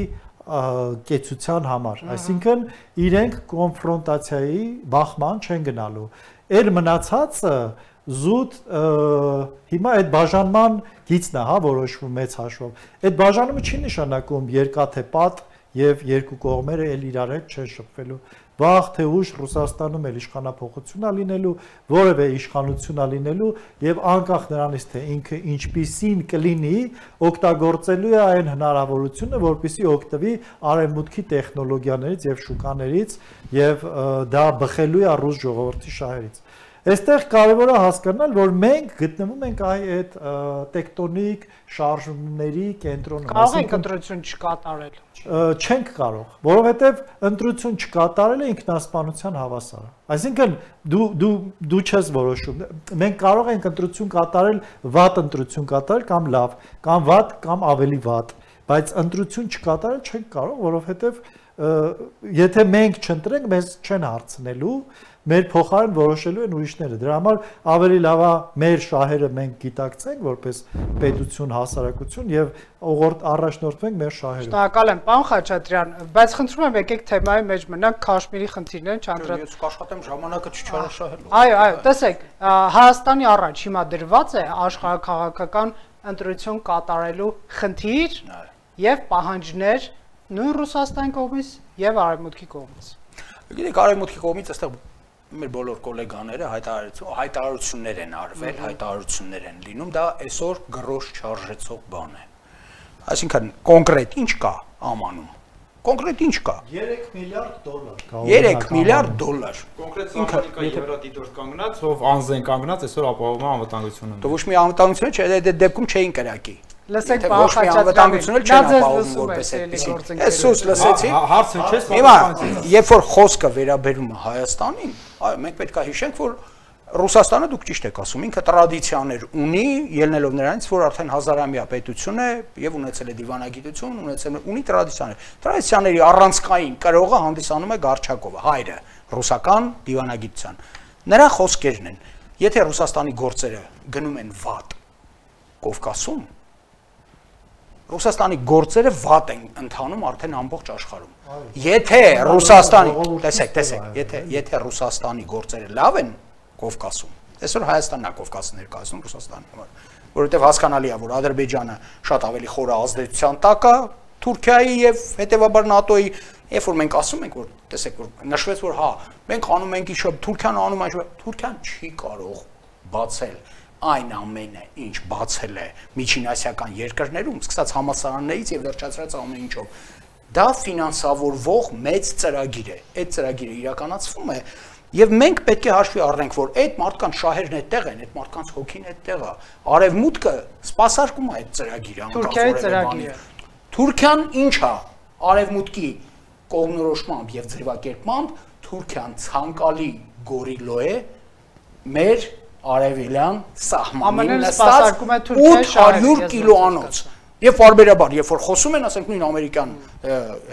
կեցության համար, այսինքն իրենք կոնֆրոնտացիայի բախման չեն գնալու։ Էլ մնացածը զուտ հիմա այդ բաժանման գիծն է, հա, որոշվում մեծ հաշվով։ Այդ բաժանումը չի նշանակում երկաթե պատ եւ երկու կողմերը էլ իրար հետ չեն շփվելու։ Վաղ թե ուշ Ռուսաստանում էլ իշխանապողություն է լինելու, որևէ իշխանություն է լինելու եւ անկախ նրանից թե ինքը ինչպիսին կլինի, օգտագործելու է այն հնարավորությունը, որպեսզի օգտվի արևմուտքի տեխնոլոգիաներից եւ շուկաներից եւ դա բխելու է ռուս ժողովրդի շահերից։ Այստեղ կարևոր է հասկանալ, որ մենք գտնվում ենք այդ տեկտոնիկ շարժումների կենտրոնում։ Կարող ենք ընտրություն չկատարել։ Չենք կարող, որովհետև ընտրություն չկատարելը ինքնասպանության հավասար է։ Այսինքն դու չես որոշում։ Մենք կարող ենք ընտրություն կատարել, վատ ընտրություն կատարել կամ լավ, կամ վատ կամ ավելի վատ, բայց ընտրություն չկատարել չենք կարող, որովհետև եթե մենք չընտրենք, մեզ չեն հարցնելու մեր փոխարեն որոշելու են ուրիշները։ Դրա համար ավելի լավ է մեր շահերը մենք գիտակցենք որպես պետություն, հասարակություն եւ առաջնորդվենք մեր շահերով։ Շնորհակալ եմ, պարոն Խաչատրյան, բայց խնդրում եմ եկեք թեմայի մեջ մնանք Քաշմիրի խնդիրներն չանդրադառնալ։ Ես կաշխատեմ ժամանակը չչարաշահելու։ Այո, տեսեք, Հայաստանի առաջ հիմա դրված է աշխարհաքաղաքական ընտրություն կատարելու խնդիր եւ պահանջներ նույն Ռուսաստանի կողմից եւ Արևմուտքի կողմից։ Գիտեք, Արևմուտքի կողմից այստեղ մեր բոլոր գոլեգաները հայտարարություններ են արվել, հայտարարություններ են լինում, դա այսօր գրոշ չարժեցող բան է։ Այսինքն կոնկրետ ինչ կա ամանում։ Կոնկրետ ինչ կա։ 3 միլիարդ դոլար։ 3 միլիարդ դոլար։ Կոնկրետ Ամերիկա Եվրատիտորդ կանգնած, ով անձեն կանգնած, այսօր ապահովում է անվտանգությունը։ Դու ոչ մի անվտանգություն չէ, այդ դեպքում չէին կրակի։ Լսեք, ոչ մի անվտանգություն էլ չեն ապահովում որպես այդպեսի։ Այսուս լսեցի։ Հարցը չես Հիմա, երբ որ խոսքը վերաբերում է Հայաստանին, այո, մենք պետք է հիշենք, որ Ռուսաստանը դուք ճիշտ եք ասում, ինքը տրադիցիաներ ունի, ելնելով նրանից, որ արդեն հազարամյա պետություն է եւ ունեցել է դիվանագիտություն, ունի տրադիցիաներ։ Տրադիցիաների առանցքային կրողը հանդիսանում է Գարչակովը, հայրը, ռուսական դիվանագիտության։ Նրա խոսքերն են. եթե Ռուսաստանի գործերը գնում են վատ Կովկասում, Ռուսաստանի գործերը վատ են ընթանում արդեն ամբողջ աշխարհում։ Եթե Ռուսաստանի, տեսեք, եթե Ռուսաստանի գործերը լավ են Կովկասում, այսօր Հայաստանն է Կովկասը ներկայացնում Ռուսաստանի համար, որովհետև հասկանալի է, որ Ադրբեջանը շատ ավելի խոր ազդեցության տակ է Թուրքիայի եւ հետեւաբար ՆԱՏՕ-ի, երբ որ մենք ասում ենք, որ տեսեք, որ նշվեց, որ հա, մենք անում ենք ինչ, Թուրքիան անում է, Թուրքիան չի կարող բացել այն ամենը, ինչ բացել է միջինասիական երկրներում, սկսած համալսարաններից եւ վերջացրած ամեն ինչով։ Դա ֆինանսավորվող մեծ ծրագիր է։ Այդ ծրագիրը իրականացվում է Եվ մենք պետք է հաշվի առնենք, որ այդ մարդկանց շահերն այդտեղ են, այդ մարդկանց հոգին այդտեղ է։ Արևմուտքը սպասարկում է այդ ծրագիրը, Թուրքիայի ծրագիրը։ Թուրքիան ինչ է արևմուտքի կողմնորոշմամբ եւ ձևակերպմամբ Թուրքիան ցանկալի գորիլո է մեր արևելյան սահմանին նստած 800 կիլոանոց։ Եվ բարբերաբար, երբ որ խոսում են, ասենք նույն ամերիկյան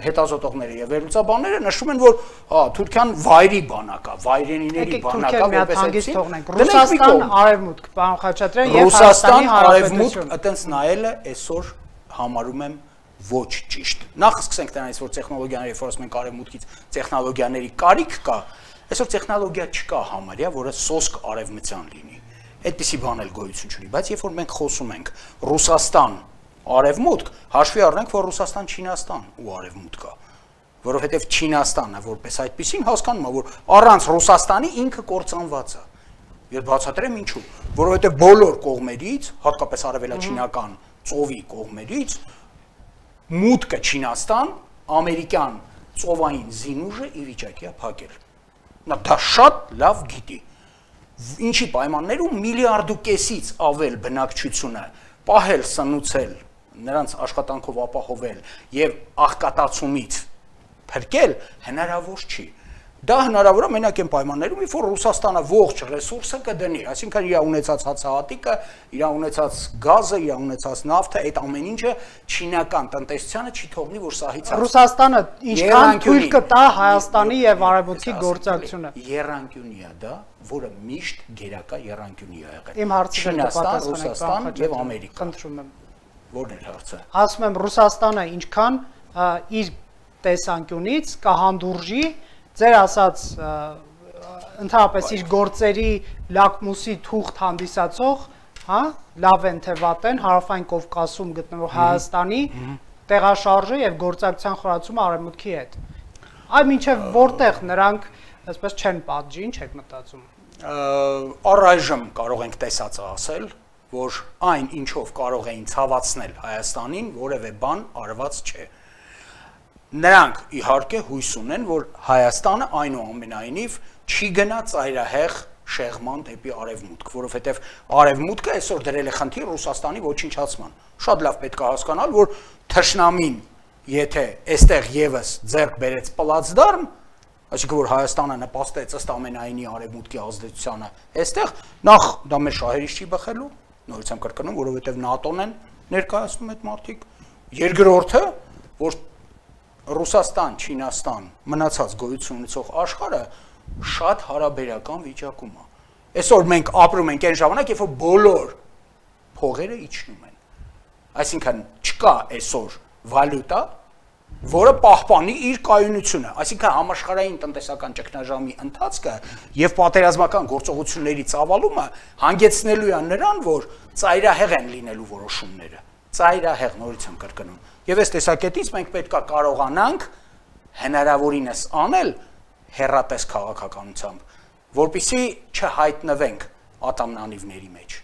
հետազոտողները եւ վերլուծաբանները նշում են, որ Թուրքիան վայրի բանակ է, վայրենիների բանակ է, որպես այսինքն Ռուսաստան, Արևմուտք, պարոն Խաչատրյան եւ Ռուսաստան, Արևմուտք, այտենց նայելը այսօր համարում եմ ոչ ճիշտ։ Նախ սկսենք դրանից, որ տեխնոլոգիաների, երբ որ ասում ենք Արևմուտքից տեխնոլոգիաների կարիք կա, այսօր տեխնոլոգիա չկա համարյա, որը սոսկ արևմտյան լինի։ Այդպիսի բան էլ գոյություն չունի, բայց երբ որ մենք խոսում ենք Ռուսաստան, Արևմուտք, հաշվի առնենք, որ Ռուսաստան, Չինաստան ու Արևմուտք կա, որովհետև Չինաստանը որպես այդպեսին հասկանում է, որ առանց Ռուսաստանի ինքը կործանված է։ Եվ բացատրեմ ինչու, որովհետև բոլոր կողմերից, հատկապես արևելաչինական ծովի կողմերից, մուտքը Չինաստան, ամերիկյան ծովային զինուժը ի վիճակի է փակել։ Նա դա շատ լավ գիտի։ Ինչի պայմաններում միլիարդուկեսից ավել բնակչությունը պահել, սնուցել, նրանց աշխատանքով ապահովել եւ աղքատացումից փրկել հնարավոր չի։ Դա հնարավոր է մենակ այն պայմաններում, երբ որ Ռուսաստանը ողջ ռեսուրսը կդնի, այսինքն իր ունեցած հացահատիկը, իր ունեցած գազը, իր ունեցած նավթը, այդ ամեն ինչը չինական տնտեսությանը չի թողնի, որ սահից Ռուսաստանը ինչքան թույլ կտա Հայաստանի եւ Արևմուտքի գործակցությունը։ Եռանկյունի է դա, որը միշտ գերակա եռանկյունի է եղել։ Իմ հարցը Ռուսաստան եւ Ամերիկա։ Խնդրում եմ։ Որն է հարցը։ Ասում եմ Ռուսաստանը ինչքան իր տեսանկյունից կհանդուրժի ձեր ասած ընդհանրապես իր գործերի լակմուսի թուղթ հանդիսացող, հա, լավ են թե վատ են հարավային Կովկասում գտնվող Հայաստանի տեղաշարժը եւ գործակցության խորացումը Արևմուտքի հետ։ Այ մինչեւ որտեղ նրանք այսպես չեն պատժի, ինչ եք մտածում։ Առայժմ կարող ենք տեսածը ասել, որ այն ինչով կարող էին ցավացնել Հայաստանին, որևէ բան արված չէ։ Նրանք իհարկե հույս ունեն, որ Հայաստանը այնուամենայնիվ չի գնա ծայրահեղ շեղման դեպի Արևմուտք, որովհետև Արևմուտքը այսօր դրել է խնդիր Ռուսաստանի ոչնչացման։ Շատ լավ պետք է հասկանալ, որ թշնամին, եթե այստեղ եւս ձեռք բերեց պլացդարմ, այսինքն որ Հայաստանը նպաստեց ըստ ամենայնի Արևմուտքի ազդեցությանը, այստեղ նախ դա մեր շահերից չի բխելու, նորից եմ կրկնում, որովհետև ՆԱՏՕ-ն են ներկայացնում այդ մարդիկ։ Երկրորդը, որ Ռուսաստան, Չինաստան, մնացած գոյություն ունեցող աշխարհը շատ հարաբերական վիճակում է։ Այսօր մենք ապրում ենք այն ժամանակ, երբ որ բոլոր փողերը իջնում են։ Այսինքն չկա այսօր վալյուտա, որը պահպանի իր կայունությունը, այսինքն համաշխարհային տնտեսական ճգնաժամի ընթացքը եւ պատերազմական գործողությունների ծավալումը հանգեցնելու է նրան, որ ծայրահեղ են լինելու որոշումները։ Ծայրահեղ, նորից եմ կրկնում։ Եվ այս տեսակետից մենք պետք է կարողանանք հնարավորինս անել հեռատես քաղաքականությամբ, որպեսզի չհայտնվենք ատամնանիվների մեջ։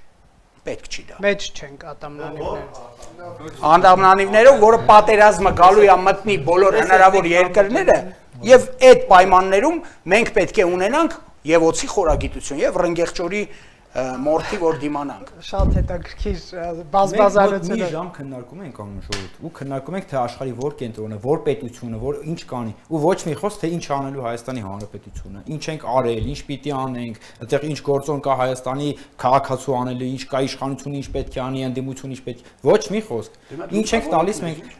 Պետք չի դա։ Մեջ չենք ատամնանիվները։ Ատամնանիվները, որը պատերազմը գալու է մտնի բոլոր հնարավոր երկրները, եւ այդ պայմաններում մենք պետք է ունենանք եւ օծի խորագիտություն եւ ռնգեղճորի մորթի որ դիմանանք։ Շատ հետաքրքիր բազմազանություն։ Մի ժամ քննարկում ենք անում ժողովուրդ ու քննարկում ենք թե աշխարհի որ կենտրոնը, որ պետությունը, որ ինչ կանի ու ոչ մի խոսք թե ինչ անելու Հայաստանի Հանրապետությունը, ինչ ենք արել, ինչ պիտի անենք, այդտեղ ինչ գործոն կա Հայաստանի քաղաքացու անելու, ինչ կա իշխանությունը, ինչ պետք է անի, ընդդիմությունը ինչ պետք։ Ոչ մի խոսք։ Ինչ ենք տալիս մենք։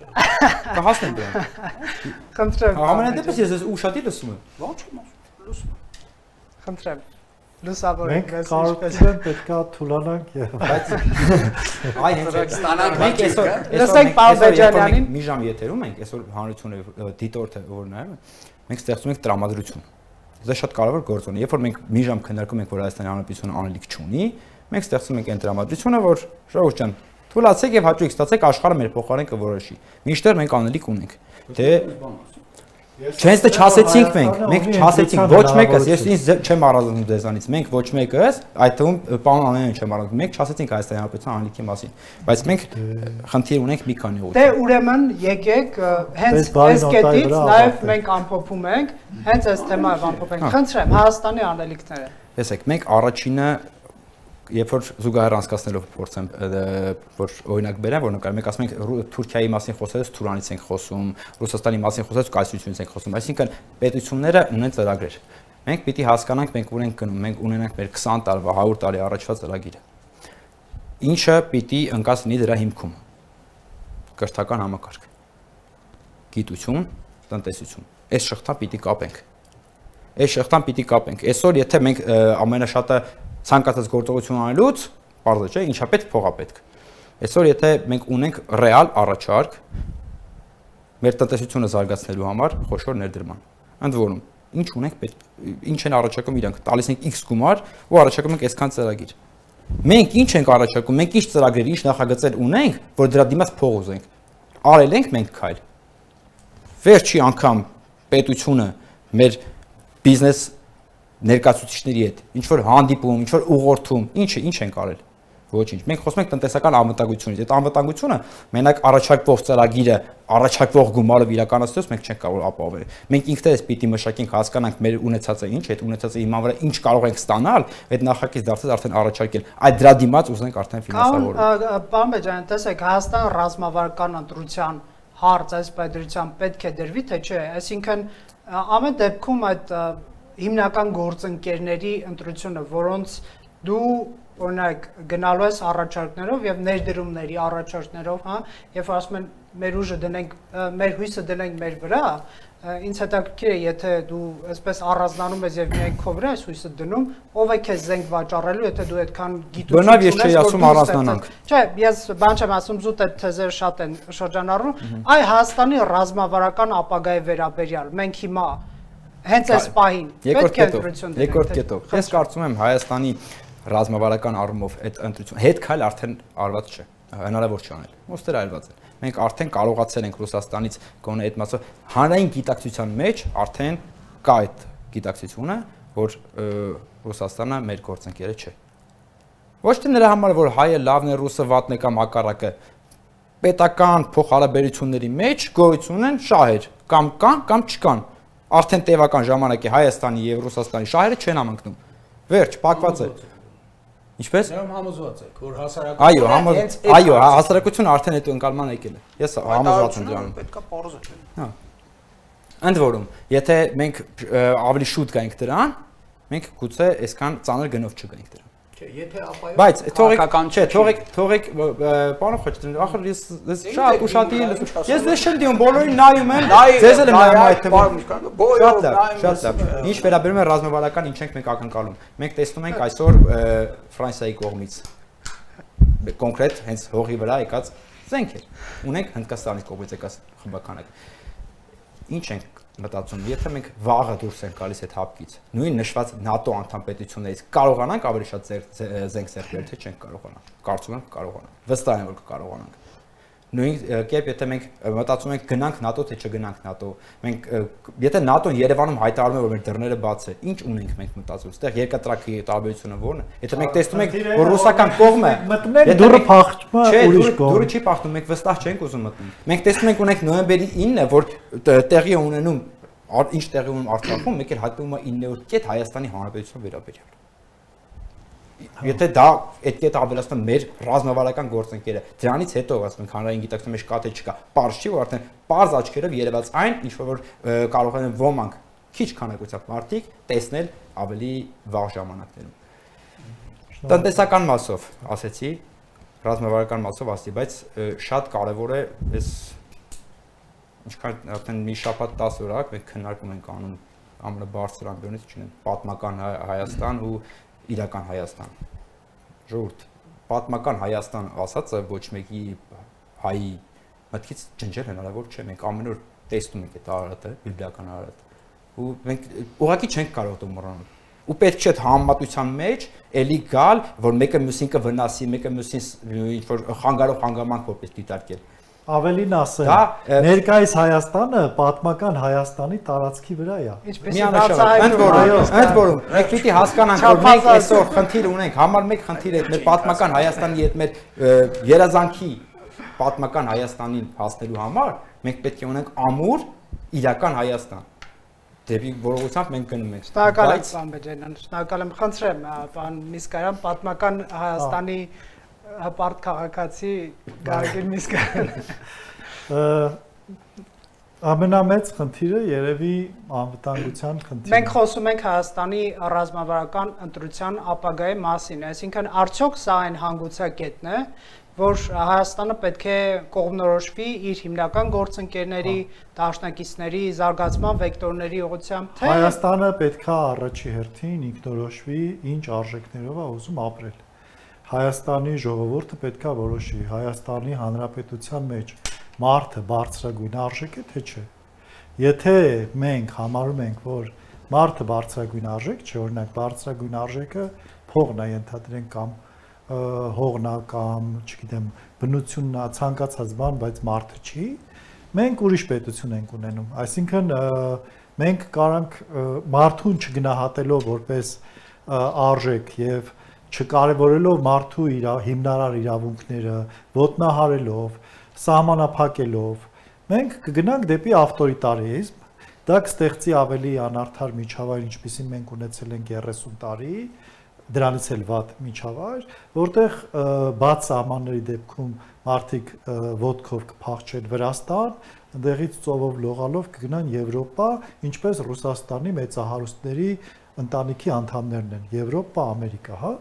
Կհասնենք դրան։ Խնդրեմ։ Ամենայն դեպս ես ուշադիր լսում եմ։ Ոչ չեմ լսում։ Խնդրեմ։ Լուսավորեք մեզ ինչպես պետքա թուլանանք եւ բայց այ հենց ստանանք մենք այսօր լսենք պարոն Բեջանյանին մի ժամ եթերում ենք այսօր հանրությունը դիտորդը որ նայում մենք ստեղծում ենք տրամադրություն դա շատ կարևոր գործոն է երբ որ մենք մի ժամ քննարկում ենք որ Հայաստանի Հանրապետությունը անելիք չունի մենք ստեղծում ենք այն տրամադրությունը որ ժողովուրդ ջան թուլացեք եւ հաճույք ստացեք աշխարհը մեր փոխարեն կորոշի մինչդեռ մենք անելիք ունենք թե Չենց դե չասեցինք մենք չասեցինք ոչ մեկս, ես ինձ չեմ առանձնում դեզանից, մենք ոչ մեկս, այդ թվում պարոն Անանյանին չեմ առանձնում, մենք չասեցինք Հայաստանի Հանրապետության անելիքի մասին, բայց մենք խնդիր ունենք մի քանի ուղղություն։ Դե ուրեմն եկեք հենց այս կետից նաև մենք ամփոփում ենք, հենց այս թեմայով ամփոփենք։ Խնդրեմ Հայաստանի անելիքները։ Տեսեք, մենք առաջինը երբ որ զուգահեռ անցկացնելով փորձեմ որ օրինակ բերեմ, որ նկարեմ, մենք ասում ենք Թուրքիայի մասին խոսելուց Թուրանից ենք խոսում, Ռուսաստանի մասին խոսելուց Կայսրությունից ենք խոսում, այսինքն պետությունները ունեն ծրագրեր։ Մենք պիտի հասկանանք, մենք ուր ենք գնում, մենք ունենանք մեր 20 տարվա, 100 տարի առաջվա ծրագիրը։ Ինչը պիտի ընկած լինի դրա հիմքում։ Կրթական համակարգ, գիտություն, տնտեսություն։ Այս շղթան պիտի կապենք։ Այս շղթան պիտի կապենք։ Այսօր եթե մենք ամենաշատը ցանկացած գործողություն անելուց, բարձր չէ, ինչա պետք փողա պետք։ Այսօր եթե մենք ունենք ռեալ առաջարկ մեր տնտեսությունը զարգացնելու համար խոշոր ներդրման։ Ընդ որում, ինչ ունենք պետք, ինչ են առաջարկում իրանք, տալիս ենք X գումար ու առաջարկում ենք այսքան ծրագիր։ Մենք ինչ ենք առաջարկում, մենք ինչ ծրագրեր, ինչ նախագծեր ունենք, որ դրա դիմաց փող ուզենք։ Արել ենք մենք քայլ։ Վերջի անգամ պետությունը մեր բիզնես ներկայացուցիչների հետ ինչ որ հանդիպում, ինչ որ ուղղորդում, ինչ ենք արել։ Ոչինչ։ Մենք խոսում ենք տնտեսական անվտանգությունից։ Այդ անվտանգությունը մենակ առաջարկվող ծրագիրը, առաջարկվող գումարով իրականացնելուց մենք չենք կարող ապահովել։ Մենք ինքներս պիտի մշակենք, հասկանանք մեր ունեցածը ինչ, այդ ունեցածը հիման վրա ինչ կարող ենք ստանալ, այդ նախագիծ դարձած արդեն առաջարկել։ Այդ դրա դիմաց ուզենք արդեն ֆինանսավորել։ Պարոն Բեջյան, տեսեք, Հայաստան ռազմավարական ընտրության հարց այս պայդրության պետք է դրվի, թե չէ, այսինքն ամեն դեպքում այդ հիմնական գործընկերների ընտրությունը, որոնց դու օրինակ գնալու ես առաջարկներով եւ ներդրումների առաջարկներով, հա, եւ ասում են մեր ուժը դնենք, մեր հույսը դնենք մեր վրա, ինձ հետաքրքիր է, եթե դու այսպես առանձնանում ես եւ միայն քո վրա ես հույսը դնում, ով է քեզ զենք վաճառելու, եթե դու այդքան գիտություն ունես, բնավ ես չի ասում առանձնանանք։ Չէ, ես բան չեմ ասում, զուտ այդ թեզերը շատ են շրջանառվում, այ Հայաստանի ռազմավարական ապագայի վերաբերյալ մենք հիմա հենց այս պահին պետք է ընտրություն դնենք։ Երկրորդ կետով։ Ես կարծում եմ Հայաստանի ռազմավարական առումով այդ ընտրությունը հետ քայլ արդեն արված չէ, հնարավոր չի անել։ Ոստեր այլված է։ Մենք արդեն կարողացել ենք Ռուսաստանից գոնե այդ մասով հանրային գիտակցության մեջ արդեն կա այդ գիտակցությունը, որ Ռուսաստանը մեր գործընկերը չէ։ Ոչ թե նրա համար, որ հայը լավն է, ռուսը վատն է կամ հակառակը, պետական փոխհարաբերությունների մեջ գոյություն են շահեր, կամ կան, կամ չկան։ Արդեն տևական ժամանակ է Հայաստանի եւ Ռուսաստանի շահերը չեն համընկնում։ Վերջ, փակված է։ Ինչպես։ Դրանով համոզված եք, որ հասարակությունը այո, հասարակությունը արդեն այդ ընկալման եկել է։ Ես համոզված եմ դրանում։ Պետքա պարզը չէ։ Հա։ Ընդ որում, եթե մենք ավելի շուտ գայինք դրան, մենք գուցե այսքան ծանր գնով չգայինք դրան։ Եթե ապայով բայց թողեք պարոն Խոչատրյան, ախր ես շատ ուշադիր ես դες չեմ դիում բոլորին նայում եմ ձեզ էլ եմ նայում այդ թվում շատ լավ ինչ վերաբերում է ռազմավարական ինչ ենք մենք ակնկալում մենք տեսնում ենք այսօր Ֆրանսիայի կողմից կոնկրետ հենց հողի վրա եկած զենքեր ունենք Հնդկաստանի կողմից եկած խմբականակ ինչ ենք մտածում, եթե մենք վաղը դուրս ենք գալիս այդ հապկից, նույն նշված ՆԱՏՕ անդամ պետություններից կարողանանք ավելի շատ զենք ձեռք բերել, թե չենք կարողանա։ Կարծում եմ կարողանանք։ Վստահ եմ, որ կկարողանանք։ Նույն կերպ եթե մենք մտածում ենք գնանք ՆԱՏՕ, թե չգնանք ՆԱՏՕ, մենք եթե ՆԱՏՕ-ն Երևանում հայտարարում է, որ մեր դռները բաց է, ինչ ունենք մենք մտածում։ Այստեղ երկատրակի տարբերությունը ո՞րն է։ Եթե մենք տեսնում ենք, որ ռուսական կողմը մտնել դուրը փախչում է ուրիշ կողմ։ Դուրը չի փախնում, մենք վստահ չենք ուզում մտնել։ Մենք տեսնում ենք ունենք նոյեմբերի 9-ը, որ տեղի է ունենում ինչ տեղի ունենում Արցախում, մեկ էլ հայտնվում է 9-րդ կետ Հայաստանի Հանրապետության վերաբերյալ։ Եթե դա այդ կետը ավելացնում մեր ռազմավարական գործընկերը, դրանից հետո ասում ենք հանրային գիտակցության մեջ կա թե չկա, պարզ չի, որ արդեն պարզ աչքերով երևաց այն, ինչ որ կարող են ոմանք քիչ քանակությամբ մարդիկ տեսնել ավելի վաղ ժամանակներում։ Տնտեսական մասով, ասեցի, ռազմավարական մասով ասի, բայց շատ կարևոր է այս ինչքան արդեն մի շաբաթ 10 օր ակ մենք քննարկում ենք անում ամենաբարձր ամբիոնից չունեն պատմական Հայաստան ու իրական Հայաստան։ Ժողովուրդ, պատմական Հայաստան ասածը ոչ մեկի հայի մտքից ջնջել հնարավոր չէ։ Մենք ամեն օր տեսնում ենք այդ Արարատը, բիբլիական Արարատը։ Ու մենք ուղղակի չենք կարող դա մոռանալ։ Ու պետք չէ համեմատության մեջ էլի գալ, որ մեկը մյուսին կվնասի, մեկը մյուսին ինչ որ խանգարող հանգամանք որպես դիտարկել։ Ավելին ասեմ, ներկայիս Հայաստանը պատմական Հայաստանի տարածքի վրա է։ Ընդ որում, մենք պիտի հասկանանք, որ մենք այսօր խնդիր ունենք, համար մեկ խնդիր է մեր պատմական Հայաստանի հետ մեր երազանքի պատմական Հայաստանին հասնելու համար, մենք պետք է ունենք ամուր իրական Հայաստան։ Դեպի որողությամբ մենք գնում ենք։ Շնորհակալ եմ, պարոն Բեջանյան, շնորհակալ եմ, խնդրեմ, պարոն Միսկարյան, պատմական Հայաստանի հպարտ քաղաքացի Գարգել Միսկարյան։ Ամենամեծ խնդիրը երևի անվտանգության խնդիրն է։ Մենք խոսում ենք Հայաստանի ռազմավարական ընտրության ապագայի մասին, այսինքն արդյոք սա այն հանգուցակետն է, որ Հայաստանը պետք է կողմնորոշվի իր հիմնական գործընկերների, դաշնակիցների զարգացման վեկտորների ուղղությամբ, թե Հայաստանը պետք է առաջի հերթին ինքնորոշվի ինչ արժեքներով է ուզում ապրել։ Հայաստանի ժողովուրդը պետք է որոշի Հայաստանի Հանրապետության մեջ մարդը բարձրագույն արժեք է, թե չէ։ Եթե մենք համարում ենք, որ մարդը բարձրագույն արժեք չէ, օրինակ բարձրագույն արժեքը փողն է ենթադրենք կամ հողնա կամ, չգիտեմ, բնությունն է, ցանկացած բան, բայց մարդը չի, մենք ուրիշ պետություն ենք ունենում։ Այսինքն մենք կարանք մարդուն չգնահատելով որպես արժեք եւ չկարևորելով մարդու հիմնարար իրավունքները, ոտնահարելով, սահմանափակելով, մենք կգնանք դեպի ավտորիտարիզմ, դա կստեղծի ավելի անարդար միջավայր, ինչպիսին մենք ունեցել ենք 30 տարի, դրանից էլ վատ միջավայր, որտեղ բաց սահմանների դեպքում մարդիկ ոտքով կփախչեն Վրաստան, այնտեղից ծովով լողալով կգնան Եվրոպա, ինչպես Ռուսաստանի մեծահարուստների ընտանիքի անդամներն են, Եվրոպա, Ամերիկա, հա։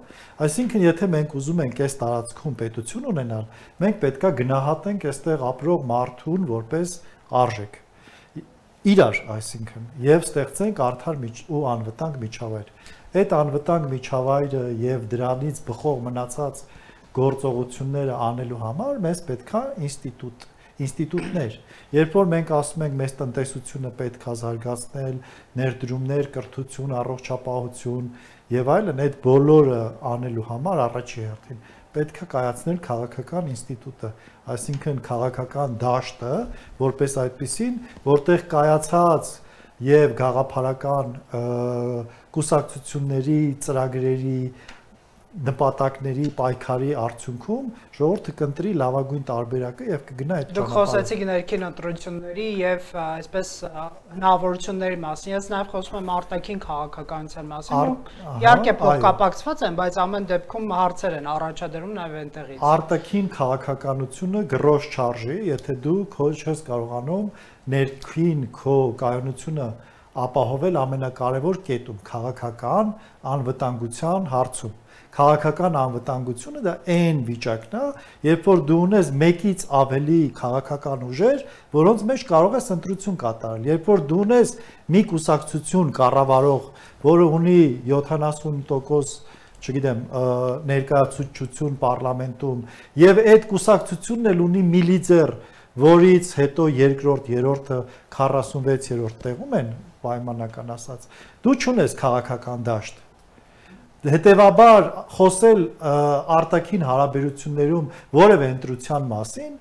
Այսինքն, եթե մենք ուզում ենք այս տարածքում պետություն ունենալ, մենք պետքա գնահատենք այստեղ ապրող մարդուն որպես արժեք։ Իրար, այսինքն, եւ ստեղծենք արդար ու անվտանգ միջավայր։ Այդ անվտանգ միջավայրը եւ դրանից բխող մնացած գործողությունները անելու համար մեզ պետքա ինստիտուտներ։ Երբ որ մենք ասում ենք մեզ տնտեսությունը պետք է զարգացնել, ներդրումներ, կրթություն, առողջապահություն եւ այլն, այդ բոլորը անելու համար առաջի հերթին պետք է կայացնել քաղաքական ինստիտուտը, այսինքն քաղաքական դաշտը, որպես այդպիսին, որտեղ կայացած եւ գաղափարական կուսակցությունների, ծրագրերի, նպատակների պայքարի արդյունքում ժողովուրդը կընտրի լավագույն տարբերակը եւ կգնա այդ ճանապարհով։ Դուք խոսեցիք ներքին ընտրությունների եւ այսպես հնարավորությունների մասին, ես նաեւ խոսում եմ արտաքին քաղաքականության մասին։ Իհարկե փոխկապակցված են, բայց ամեն դեպքում հարցեր են առաջադրում նաեւ այնտեղից։ Արտաքին քաղաքականությունը գրոշ չարժի, եթե դու քո չես կարողանում ներքին քո կայունությունը ապահովել ամենակարևոր կետում քաղաքական անվտանգության հարցում։ Քաղաքական անվտանգությունը դա այն վիճակն է, երբ որ դու ունես մեկից ավելի քաղաքական ուժեր, որոնց մեջ կարող ես ընտրություն կատարել։ Երբ որ դու ունես մի կուսակցություն կառավարող, որը ունի 70%, չգիտեմ, ներկայացուցչություն պարլամենտում, եւ այդ կուսակցությունն էլ ունի միլիցեր, որից հետո երկրորդ, երրորդը 46-րդ տեղում են, պայմանական ասած, դու չունես քաղաքական դաշտ։ Հետևաբար խոսել արտաքին հարաբերություններում որևէ ընտրության մասին,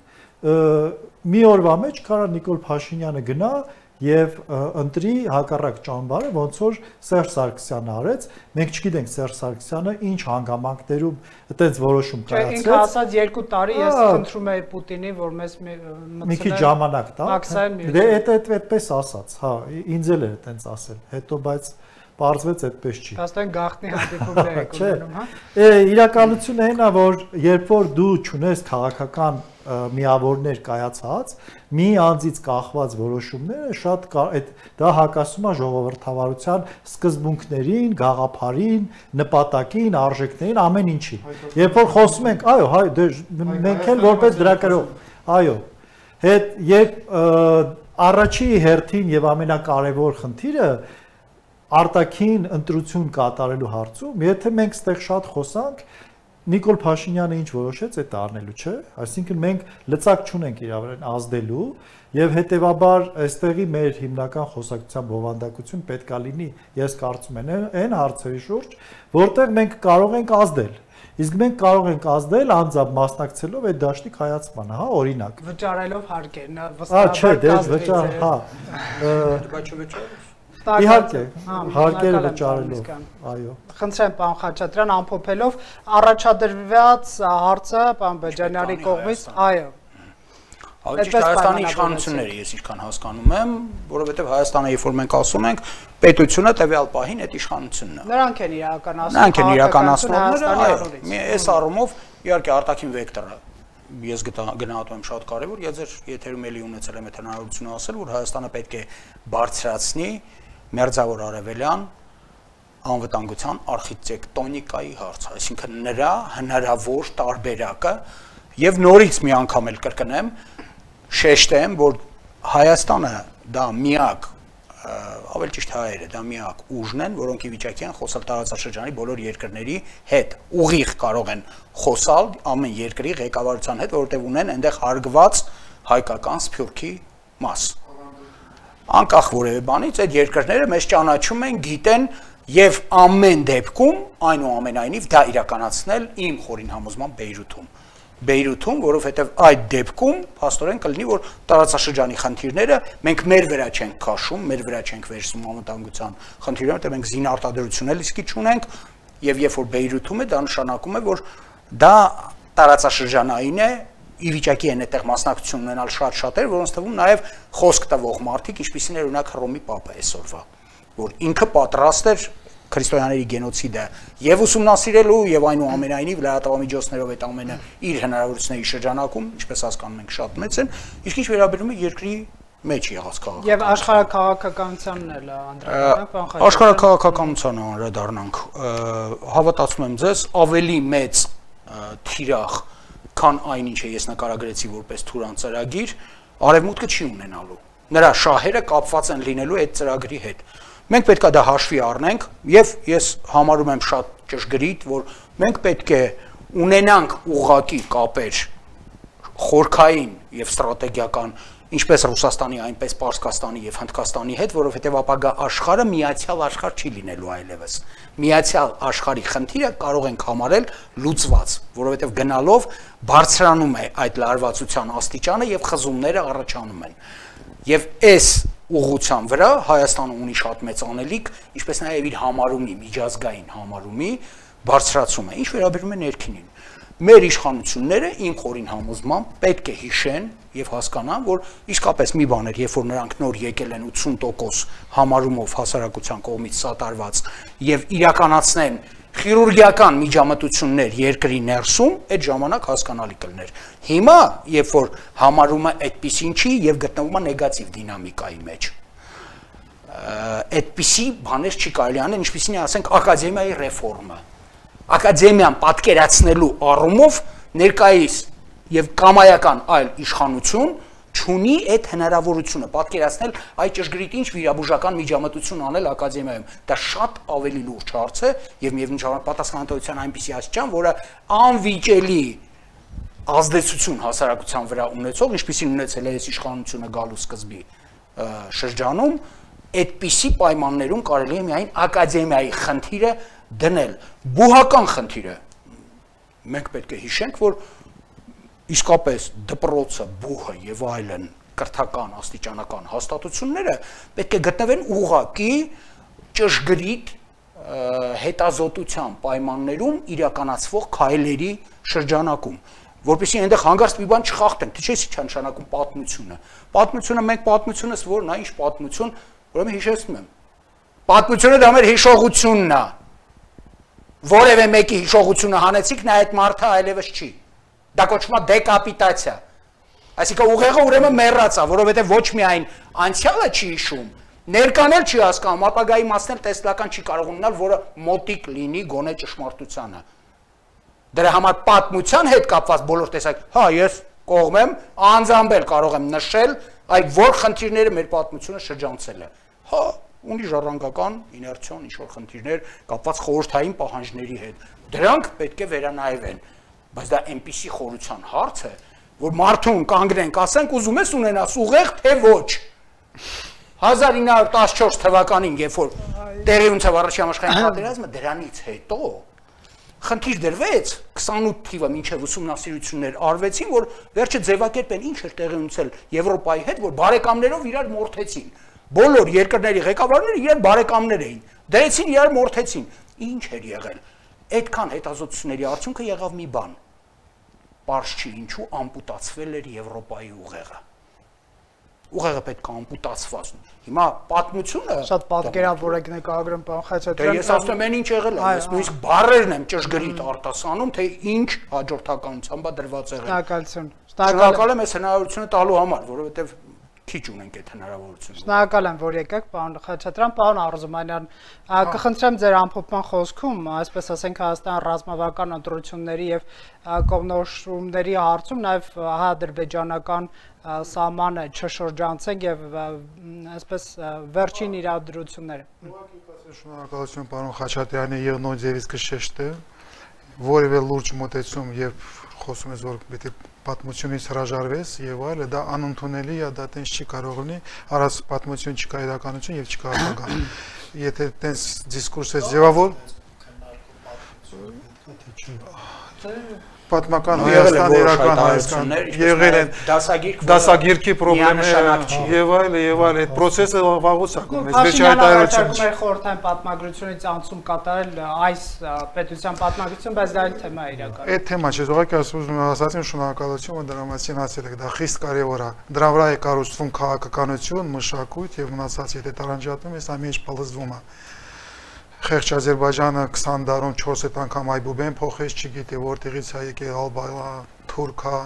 մի օրվա մեջ կարա Նիկոլ Փաշինյանը գնա եւ ընտրի հակառակ ճամբարը, ոնց որ Սերժ Սարգսյանը արեց, մենք չգիտենք Սերժ Սարգսյանը ինչ հանգամանքներում այդպես որոշում կայացրեց։ Ինքը ասաց 2 տարի ես խնդրում եի Պուտինի, որ մեզ մի քիչ ժամանակ տա։ Դե այդպես ասաց, հա, ինձ էլ էր այդպես ասել։ Հետո բայց պարզվեց այդպես չի։ Հաստատ գաղտնի հանդիպումներ եք ունենում, հա։ Իրականությունը այն է, որ երբ որ դու ճունես քաղաքական միավորներ կայացած, մի անձից կախված որոշումները շատ դա հակասում է ժողովրդավարության սկզբունքներին, գաղափարին, նպատակին, արժեքներին, ամեն ինչի։ Երբ որ խոսում ենք, այո, մենք էլ որպես դրակերով, այո, երբ առաջի հերթին եւ ամենակարևոր խնդիրը արտաքին ընտրություն կատարելու հարցում, եթե մենք ստեղ շատ խոսանք, Նիկոլ Փաշինյանը ինչ որոշեց, այդ առնելու, չէ՞։ Այսինքն մենք լծակ չունենք իր վրա ազդելու եւ հետեւաբար այստեղի մեր հիմնական խոսակցության բովանդակություն պետքա լինի, ես կարծում եմ, այն հարցերի շուրջ, որտեղ մենք կարող ենք ազդել։ Իսկ մենք կարող ենք ազդել անձամբ մասնակցելով այդ դաշտի կայացմանը, հա, օրինակ։ Վճարելով հարկերն, չէ, դե վճար, հա։ Իհարկե, հարկերը վճարելով, այո։ Խնդրեմ, պարոն Խաչատրյան, ամփոփելով առաջադրված հարցը պարոն Բեջանյանի կողմից, այո։ Ավելի ճիշտ Հայաստանի իշխանությունները, ես ինչքան հասկանում եմ, որովհետև Հայաստանը, երբ որ մենք ասում ենք, պետությունը տվյալ պահին այդ իշխանությունն է։ Նրանք են իրականացնում։ Նրանք են իրականացնողները, այս առումով իհարկե արտաքին վեկտորը ես գնահատում եմ շատ կարևոր, ես ձեր եթերում էլի ունեցել եմ այդ հնարավորությունը ասել, որ Հայաստանը պետք է բարձրացնի մերձավոր արևելյան անվտանգության արխիտեկտոնիկայի հարցը, այսինքն նրա հնարավոր տարբերակը եւ նորից մի անգամ էլ կրկնեմ, շեշտեմ, որ Հայաստանը դա միակ, ավելի ճիշտ հայերը, դա միակ ուժն են, որոնք ի վիճակի են խոսալ տարածաշրջանի բոլոր երկրների հետ, ուղիղ կարող են խոսալ ամեն երկրի ղեկավարության հետ, որովհետեւ ունեն այնտեղ հարգված հայկական սփյուռքի մաս։ Անկախ որևէ բանից այդ երկրները մեզ ճանաչում են, գիտեն եւ ամեն դեպքում այնուամենայնիվ դա իրականացնել իմ խորին համոզմամբ Բեյրութում, որովհետեւ այդ դեպքում փաստորեն կլինի, որ տարածաշրջանի խնդիրները մենք մեր վրա չենք քաշում, մեր վրա չենք վերցնում անվտանգության խնդիրները, որտեղ մենք զինարտադրություն էլ իսկի չունենք եւ երբ որ Բեյրութում է, դա նշանակում է, որ դա տարածաշրջանային է, ի վիճակի են այդտեղ մասնակցություն ունենալ շատ-շատեր, որոնց թվում նաև խոսք տվող մարդիկ, ինչպիսին է օրինակ Հռոմի Պապը այսօրվա, որ ինքը պատրաստ էր քրիստոնյաների գենոցիդը եւ ուսումնասիրելու եւ այնուամենայնիվ լրատվամիջոցներով այդ ամենը իր հնարավորությունների շրջանակում, ինչպես հասկանում ենք, շատ մեծ են, իսկ ինչ վերաբերում է երկրի մեջ եղած քաղաքականության։ Եվ աշխարհաքաղաքականությանն էլ անդրադառնանք, աշխարհաքաղաքականությանը անդրադառնանք, հավատացնում եմ ձեզ, ավելի մեծ թիրախ քան այն ինչը ես նկարագրեցի որպես Թուրան ծրագիր, արևմուտքը չի ունենալու։ Նրա շահերը կապված են լինելու այդ ծրագրի հետ։ Մենք պետք է դա հաշվի առնենք եւ ես համարում եմ շատ ճշգրիտ, որ մենք պետք է ունենանք ուղղակի կապեր խորքային եւ ստրատեգիական ինչպես Ռուսաստանի, այնպես Պարսկաստանի եւ Հնդկաստանի հետ, որովհետեւ ապագա աշխարհը միացյալ աշխարհ չի լինելու այլևս։ Միացյալ աշխարհի խնդիրը կարող ենք համարել լուծված, որովհետեւ գնալով բարձրանում է այդ լարվածության աստիճանը եւ խզումները առաջանում են։ Եվ այս ուղղության վրա Հայաստանը ունի շատ մեծ անելիք, ինչպես նաեւ իր համարումի, միջազգային համարումի բարձրացում է։ Ինչ վերաբերում է ներքինին, մեր իշխանությունները իմ խորին համոզմամբ պետք է հիշեն եւ հասկանան, որ իսկապես մի բան էր, երբ որ նրանք նոր եկել են 80% համարումով հասարակության կողմից սատարված եւ իրականացնեն խիրուրգիական միջամտություններ երկրի ներսում, այդ ժամանակ հասկանալի կլներ։ Հիմա, երբ որ համարումը այդպեսին չի եւ գտնվում է նեգատիվ դինամիկայի մեջ, այդպիսի բաներ չի կարելի անել, ինչպիսին է, ասենք, ակադեմիայի ռեֆորմը։ Ակադեմիան պատկերացնելու առումով ներկայիս եւ կամայական այլ իշխանություն չունի այդ հնարավորությունը պատկերացնել այդ ճշգրիտ ինչ վիրաբուժական միջամտություն անել ակադեմիայում։ Դա շատ ավելի լուրջ հարց է եւ միևնույն ժամանակ պատասխանատվության այնպիսի աստիճան, որը անվիճելի ազդեցություն հասարակության վրա ունեցող, ինչպիսին ունեցել է այս իշխանությունը գալու սկզբի շրջանում, այդպիսի պայմաններում կարելի է միայն ակադեմիայի խնդիրը դնել։ Բուհական խնդիրը մենք պետք է հիշենք, որ իսկապես դպրոցը, բուհը եւ այլն կրթական աստիճանական հաստատությունները պետք է գտնվեն ուղղակի ճշգրիտ հետազոտության պայմաններում իրականացվող քայլերի շրջանակում, որպեսզի այնտեղ հանգարց մի բան չխախտենք, թե չէ՞ չի նշանակում պատմությունը։ Պատմությունը մենք պատմությունս որն է, ինչ պատմություն, ուրեմն հիշեցնում եմ։ Պատմությունը դա մեր հիշողությունն է։ Որևէ մեկի հիշողությունը հանեցիք, նա այդ մարդը այլևս չի։ Դա կոչվում է դեկապիտացիա։ Այսինքն ուղեղը ուրեմն մեռած է, որովհետև ոչ միայն անցյալը չի հիշում, ներկան էլ չի հասկանում, ապագայի մասն էլ տեսլական չի կարող ունենալ, որը մոտիկ լինի գոնե ճշմարտությանը։ Դրա համար պատմության հետ կապված բոլոր տեսակ, հա, ես կողմ եմ, անձամբ կարող եմ նշել, այդ որ խնդիրները մեր պատմությունը շրջանցել է։ Հա, ունի ժառանգական իներցիոն ինչ-որ խնդիրներ կապված խորհրդային պահանջների հետ։ Դրանք պետք է վերանայվեն, բայց դա այնպիսի խորության հարց է, որ մարդուն կանգնենք, ասենք ուզում ես ունենաս ուղեղ, թե ոչ։ 1914 թվականին, երբ որ տեղի ունեցավ առաջին համաշխարհային պատերազմը, դրանից հետո խնդիր դրվեց 28 թիվը մինչև ուսումնասիրություններ արվեցին, որ վերջը ձևակերպեն ինչ էր տեղի ունեցել Եվրոպայի հետ, որ բարեկամներով իրար մորթեցին։ Բոլոր երկրների ղեկավարները իրար բարեկամներ էին, դրեցին իրար մորթեցին։ Ինչ էր եղել։ Այդքան հետազոտությունների արդյունքը եղավ մի բան։ Պարզ չի ինչու ամպուտացվել էր Եվրոպայի ուղեղը։ Ուղեղը պետք է ամպուտացված։ Հիմա պատմությունը շատ պատկերավոր եք նկարագրում, պարոն Խաչատրյան։ Ես ասում եմ ինչ եղել է, ես նույնիսկ բառերն եմ ճշգրիտ արտասանում, թե ինչ հաջորդականությամբ է դրված եղել։ Շնորհակալություն։ Շնորհակալ եմ այս հնարավորությունը տալու համար, որովհետև քիչ ունենք այդ հնարավորությունը։ Շնորհակալ եմ, որ եկաք, պարոն Խաչատրյան, պարոն Արզումանյան, կխնդրեմ ձեր ամփոփման խոսքում, այսպես ասենք, Հայաստան ռազմավարական ընտրությունների եւ կողմնորոշումների հարցում նաեւ ադրբեջանական սահմանը չշրջանցենք եւ այսպես վերջին իրադրությունները։ Շնորհակալություն պարոն Խաչատրյանի եւ նույնպես կշեշտը, որևէ լուրջ մոտեցում եւ խոսում ես որ պետք է պատմությունից հրաժարվես եւ այլը, դա անընդունելի է, դա տենց չի կարող լինի, առանց պատմություն չկա իրականություն եւ չկա ապագա։ Եթե տենց դիսկուրս է ձևավոր պատմական Հայաստան, իրական Հայաստան եղել են դասագիրքի խնդիրներ եւ այլ, այդ process-ը վաղուց է գնում, այս վերջի հայտարարությունը։ Խորհրդային պատմագրությունից անցում կատարել այս պետության պատմագրություն, բայց դա այլ թեմա է իրականում։ Այդ թեմա չէ, ուղղակի ասացին շնորհակալություն, որ դրա մասին ասել եք, դա խիստ կարևոր է։ Դրա վրա է կառուցվում քաղաքականություն, մշակույթ եւ մնացած եթե տարանջատում ես, ամեն ինչ պլզվում է։ Խեղճ Ադրբեջանը 20 դարում 4 անգամ այբուբեն փոխեց, չգիտի որտեղից է եկել Ալբանա, Թուրքա,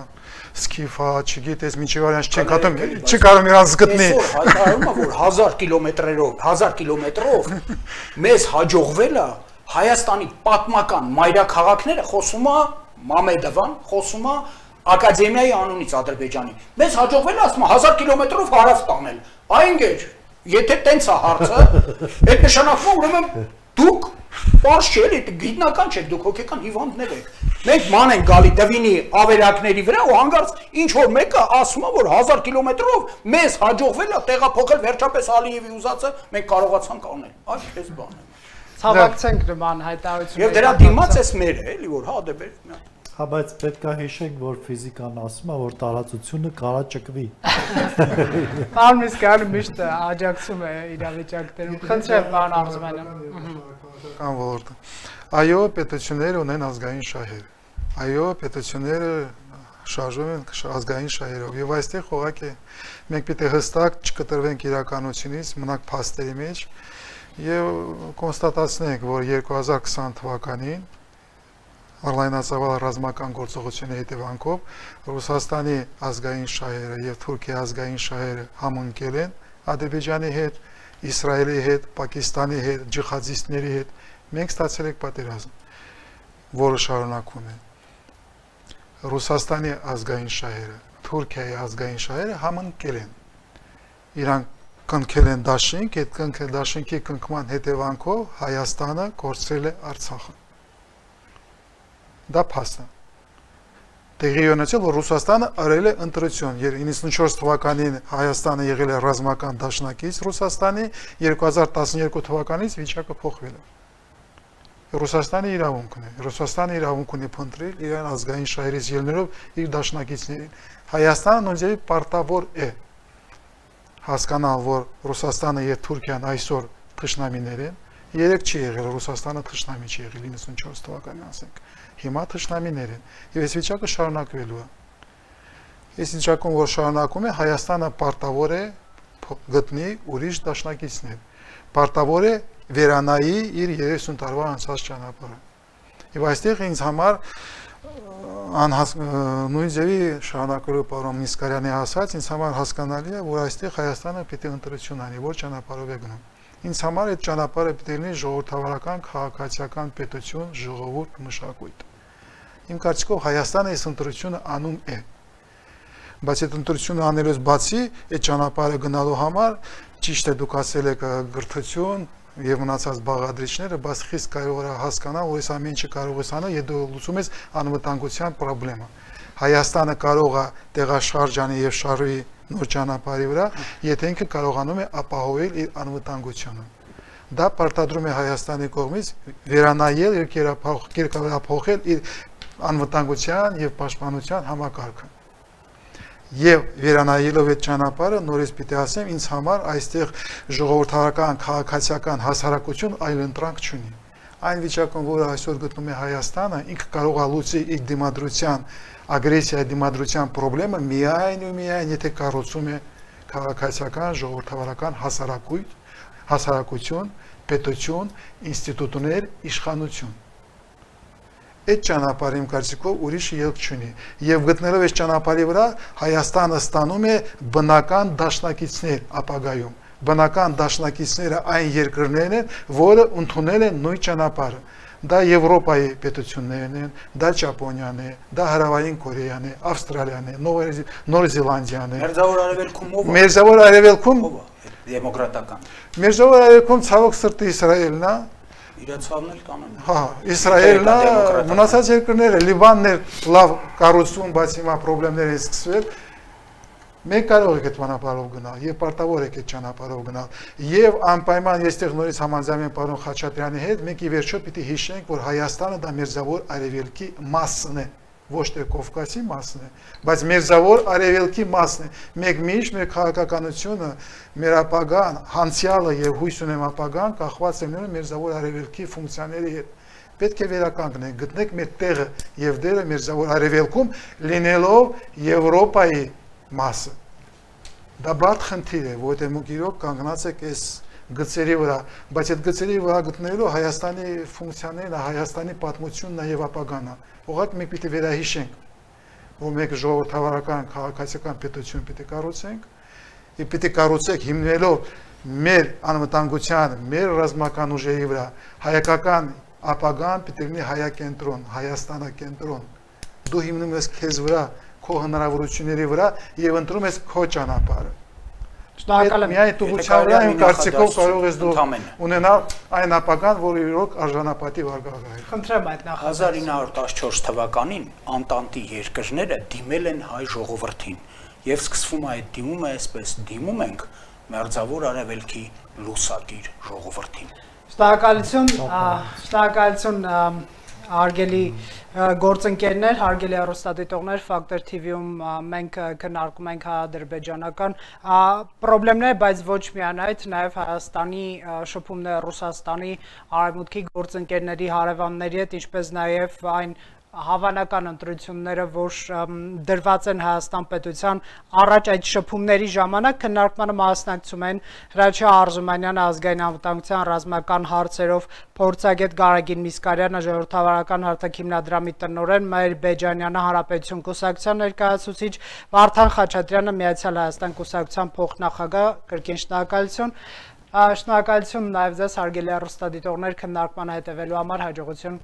Սկիֆա, չգիտես միջև արյանց չեն կատում, չի կարող իրանց գտնի։ Հայտարարում է, որ 1000 կիլոմետրով մեզ հաջողվել է Հայաստանի պատմական մայրաքաղաքները, խոսում է Մամեդովան, խոսում է ակադեմիայի անունից Ադրբեջանի։ Մեզ հաջողվել է, ասում է 1000 կիլոմետրով հարավ տանել։ Այնգեր, եթե տենց է հարցը, այդ նշանակում ուրեմն դուք պարզ չէ, էլի գիտնական չեք, դուք հոգեկան հիվանդներ եք։ Մենք ման ենք գալի Դվինի ավերակների վրա ու հանգարց ինչ որ մեկը ասում է, որ 1000 կիլոմետրով մեզ հաջողվել է տեղափոխել վերջապես Ալիևի ուզածը, մենք կարողացանք անել։ Այս բան է։ Ցավակցենք նման հայտարարությունները։ Եվ դրա դիմաց էս մերը, էլի որ հա դե բեր։ Հա բայց պետք է հիշենք, որ ֆիզիկան ասում է, որ տարածությունը կարա ճկվի։ Պարոն Միսկյանը միշտ աջակցում է իրավիճակներում։ Խնդրեմ, պարոն Արզումանյան։ Կան ոլորտը։ Այո, պետությունները ունեն ազգային շահեր։ Այո, պետությունները շարժվում են ազգային շահերով։ Եվ այստեղ ուղղակի մենք պիտի հստակ չկտրվենք իրականությունից, մնանք փաստերի մեջ եւ կոնստատացնենք, որ 2020 թվականին Արլայնացավալ ռազմական գործողությունների հետևանքով Ռուսաստանի ազգային շահերը եւ Թուրքիայի ազգային շահերը համընկել են Ադրբեջանի հետ, Իսրայելի հետ, Պակիստանի հետ, ջիհադիստների հետ։ Մենք ստացել ենք պատերազմ, որը շարունակվում է։ Ռուսաստանի ազգային շահերը, Թուրքիայի ազգային շահերը համընկել են։ Իրանք կնքել են դաշինք, այդ դաշինքի կնքման հետևանքով Հայաստանը կորցրել է Արցախը։ Դա փաստ է։ Տեղի ունեցել, որ Ռուսաստանը արել է ընտրություն։ 94 թվականին Հայաստանը եղել է ռազմական դաշնակից Ռուսաստանի, 2012 թվականից վիճակը փոխվել է։ Ռուսաստանի իրավունքն է։ Ռուսաստանը իրավունք ունի փնտրել իրեն ազգային շահերից ելնելով իր դաշնակիցներին։ Հայաստանը նույնիսկ պարտավոր է հասկանալ, որ Ռուսաստանը եւ Թուրքիան այսօր թշնամիներ են։ Երեք չի եղել Ռուսաստանը թշնամի չի եղել 94 թվականին, ասենք։ Հիմա թշնամիներ են եւ այս վիճակը շարունակվելու է։ Այս վիճակում որ շարունակում է, Հայաստանը պարտավոր է գտնի ուրիշ դաշնակիցներ։ Պարտավոր է վերանայի իր 30 տարվա անցած ճանապարհը։ Եվ այստեղ ինձ համար նույն ձևի շարունակելու պարոն Միսկարյանի ասած, ինձ համար հասկանալի է, որ այստեղ Հայաստանը պիտի ընտրություն անի, որ ճանապարհով է գնում։ Ինձ համար այդ ճանապարհը պիտի լինի ժողովրդավարական, քաղաքացիական պետություն, ժողովուրդ, մշակույթ։ Իմ կարծիքով Հայաստանը այս ընտրությունը անում է։ Բայց այդ ընտրությունը անելուց բացի, այդ ճանապարհը գնալու համար ճիշտ է դուք ասել եք գրթություն եւ մնացած բաղադրիչները, բայց խիստ կարևոր է հասկանալ, որ այս ամեն ինչը կարող ես անել, եթե դու լուծում ես անվտանգության խնդրեմը։ Հայաստանը կարող է տեղաշարժանի եւ շարժի նոր ճանապարհի վրա, եթե ինքը կարողանում է ապահովել իր անվտանգությունը։ դա պարտադրում է Հայաստանի կողմից վերանայել եւ կերկարափոխել իր անվտանգության եւ պաշտպանության համակարգը։ Եվ վերանայելով այդ ճանապարհը նորից պիտի ասեմ, ինձ համար այստեղ ժողովրդական, քաղաքացիական հասարակություն այլընտրանք չունի։ Այն վիճակում, որը այսօր գտնում է Հայաստանը, ինքը կարող է լուծել իր դիմադրության, ագրեսիայի դիմադրության խնդրը միայն ու միայն, եթե կառուցում է քաղաքացիական, ժողովրդավարական հասարակություն, պետություն, ինստիտուտներ, իշխանություն։ Այդ ճանապարհը իմ կարծիքով ուրիշ ելք չունի։ Եվ գտնելով այս ճանապարհի վրա Հայաստանը ստանում է բնական դաշնակիցներ ապագայում։ Բնական դաշնակիցները այն երկրներն են, որը ընդունել են նույն ճանապարհը։ Դա Եվրոպայի պետություններն են, դա Ճապոնիան է, դա Հարավային Կորեան է, Ավստրալիան է, Նոր Զելանդիան է։ Մերձավոր Արևելքում ով է։ Մերձավոր Արևելքում դեմոկրատական։ Մերձավոր Արևելքում ցավոք սրտի Իսրայելն է։ Իրացավն էլ կանոն։ Հա, Իսրայելն է, մնացած երկրները, Լիբանն է լավ կառուցում, բայց հիմա խնդիրներ են սկսվել։ Մենք կարող ենք այդ ճանապարհով գնալ, եւ պարտավոր ենք այդ ճանապարհով գնալ։ Եվ անպայման այստեղ նորից համաձայն եմ պարոն Խաչատրյանի հետ, մենք ի վերջո պիտի հիշենք, որ Հայաստանը դա Մերձավոր Արևելքի մասն է, ոչ թե Կովկասի մասն է, բայց Մերձավոր Արևելքի մասն է։ Մենք միշտ մեր քաղաքականությունը, մեր ապագան, հանցյալը եւ հույս ունեմ ապագան կախված է Մերձավոր Արևելքի ֆունկցիաների հետ։ Պետք է վերականգնենք, գտնենք մեր տեղը եւ դերը Մերձավոր Արևելքում, լինելով Եվրոպայի մասը։ Դա բաց խնդիր է, որտեղ մենք իրոք կանգնած ենք այս գծերի վրա, բայց այդ գծերի վրա գտնելու Հայաստանի ֆունկցիաներն, Հայաստանի պատմությունն է եւ ապագան է։ Ուղղակի մենք պիտի վերահիշենք, որ մենք ժողովրդավարական քաղաքացիական պետություն պիտի կառուցենք, եւ պիտի կառուցենք հիմնելով մեր անվտանգության, մեր ռազմական ուժերի վրա հայկական ապագան պիտի լինի հայակենտրոն, Հայաստանակենտրոն։ Դու հիմնում ես քեզ վրա քո հնարավորությունների վրա եւ ընտրում ես քո ճանապարհը։ Շնորհակալ եմ։ Միայն տուղության վրա իմ կարծիքով կարող ես դու ունենալ այն ապագան, որը իրոք արժանապատիվ արգաղ է։ Խնդրեմ այդ նախադասությունը։ 1914 թվականին Անտանտի երկրները դիմել են հայ ժողովրդին եւ սկսվում է այդ դիմումը այսպես. դիմում ենք Մերձավոր Արևելքի լուսակիր ժողովրդին։ Շնորհակալություն հարգելի գործընկերներ, հարգելի հեռուստադիտողներ, Factor TV-ում մենք քննարկում ենք հայ-ադրբեջանական խնդիրներ, բայց ոչ միայն այդ, նաև Հայաստանի շփումները Ռուսաստանի արևմուտքի գործընկերների, հարևանների հետ, ինչպես նաև այն հավանական ընտրությունները, որ դրված են Հայաստան պետության առաջ այդ շփումների ժամանակ քննարկմանը մասնակցում են Հրաչյա Արզումանյանը, ազգային անվտանգության ռազմական հարցերով փորձագետ Գարագին Միսկարյանը, ժողովրդավարական հարթակիմնադրամի տնօրեն Մայր Բեջանյանը, Հանրապետություն կուսակցության ներկայացուցիչ, Վարդան Խաչատրյանը, Միացյալ Հայաստան կուսակցության փոխնախագահ, կրկին շնորհակալություն։ Շնորհակալություն նաև ձեզ հարգելի հեռուստադիտողներ քննարկմանը հետևելու համար, հաջողություն։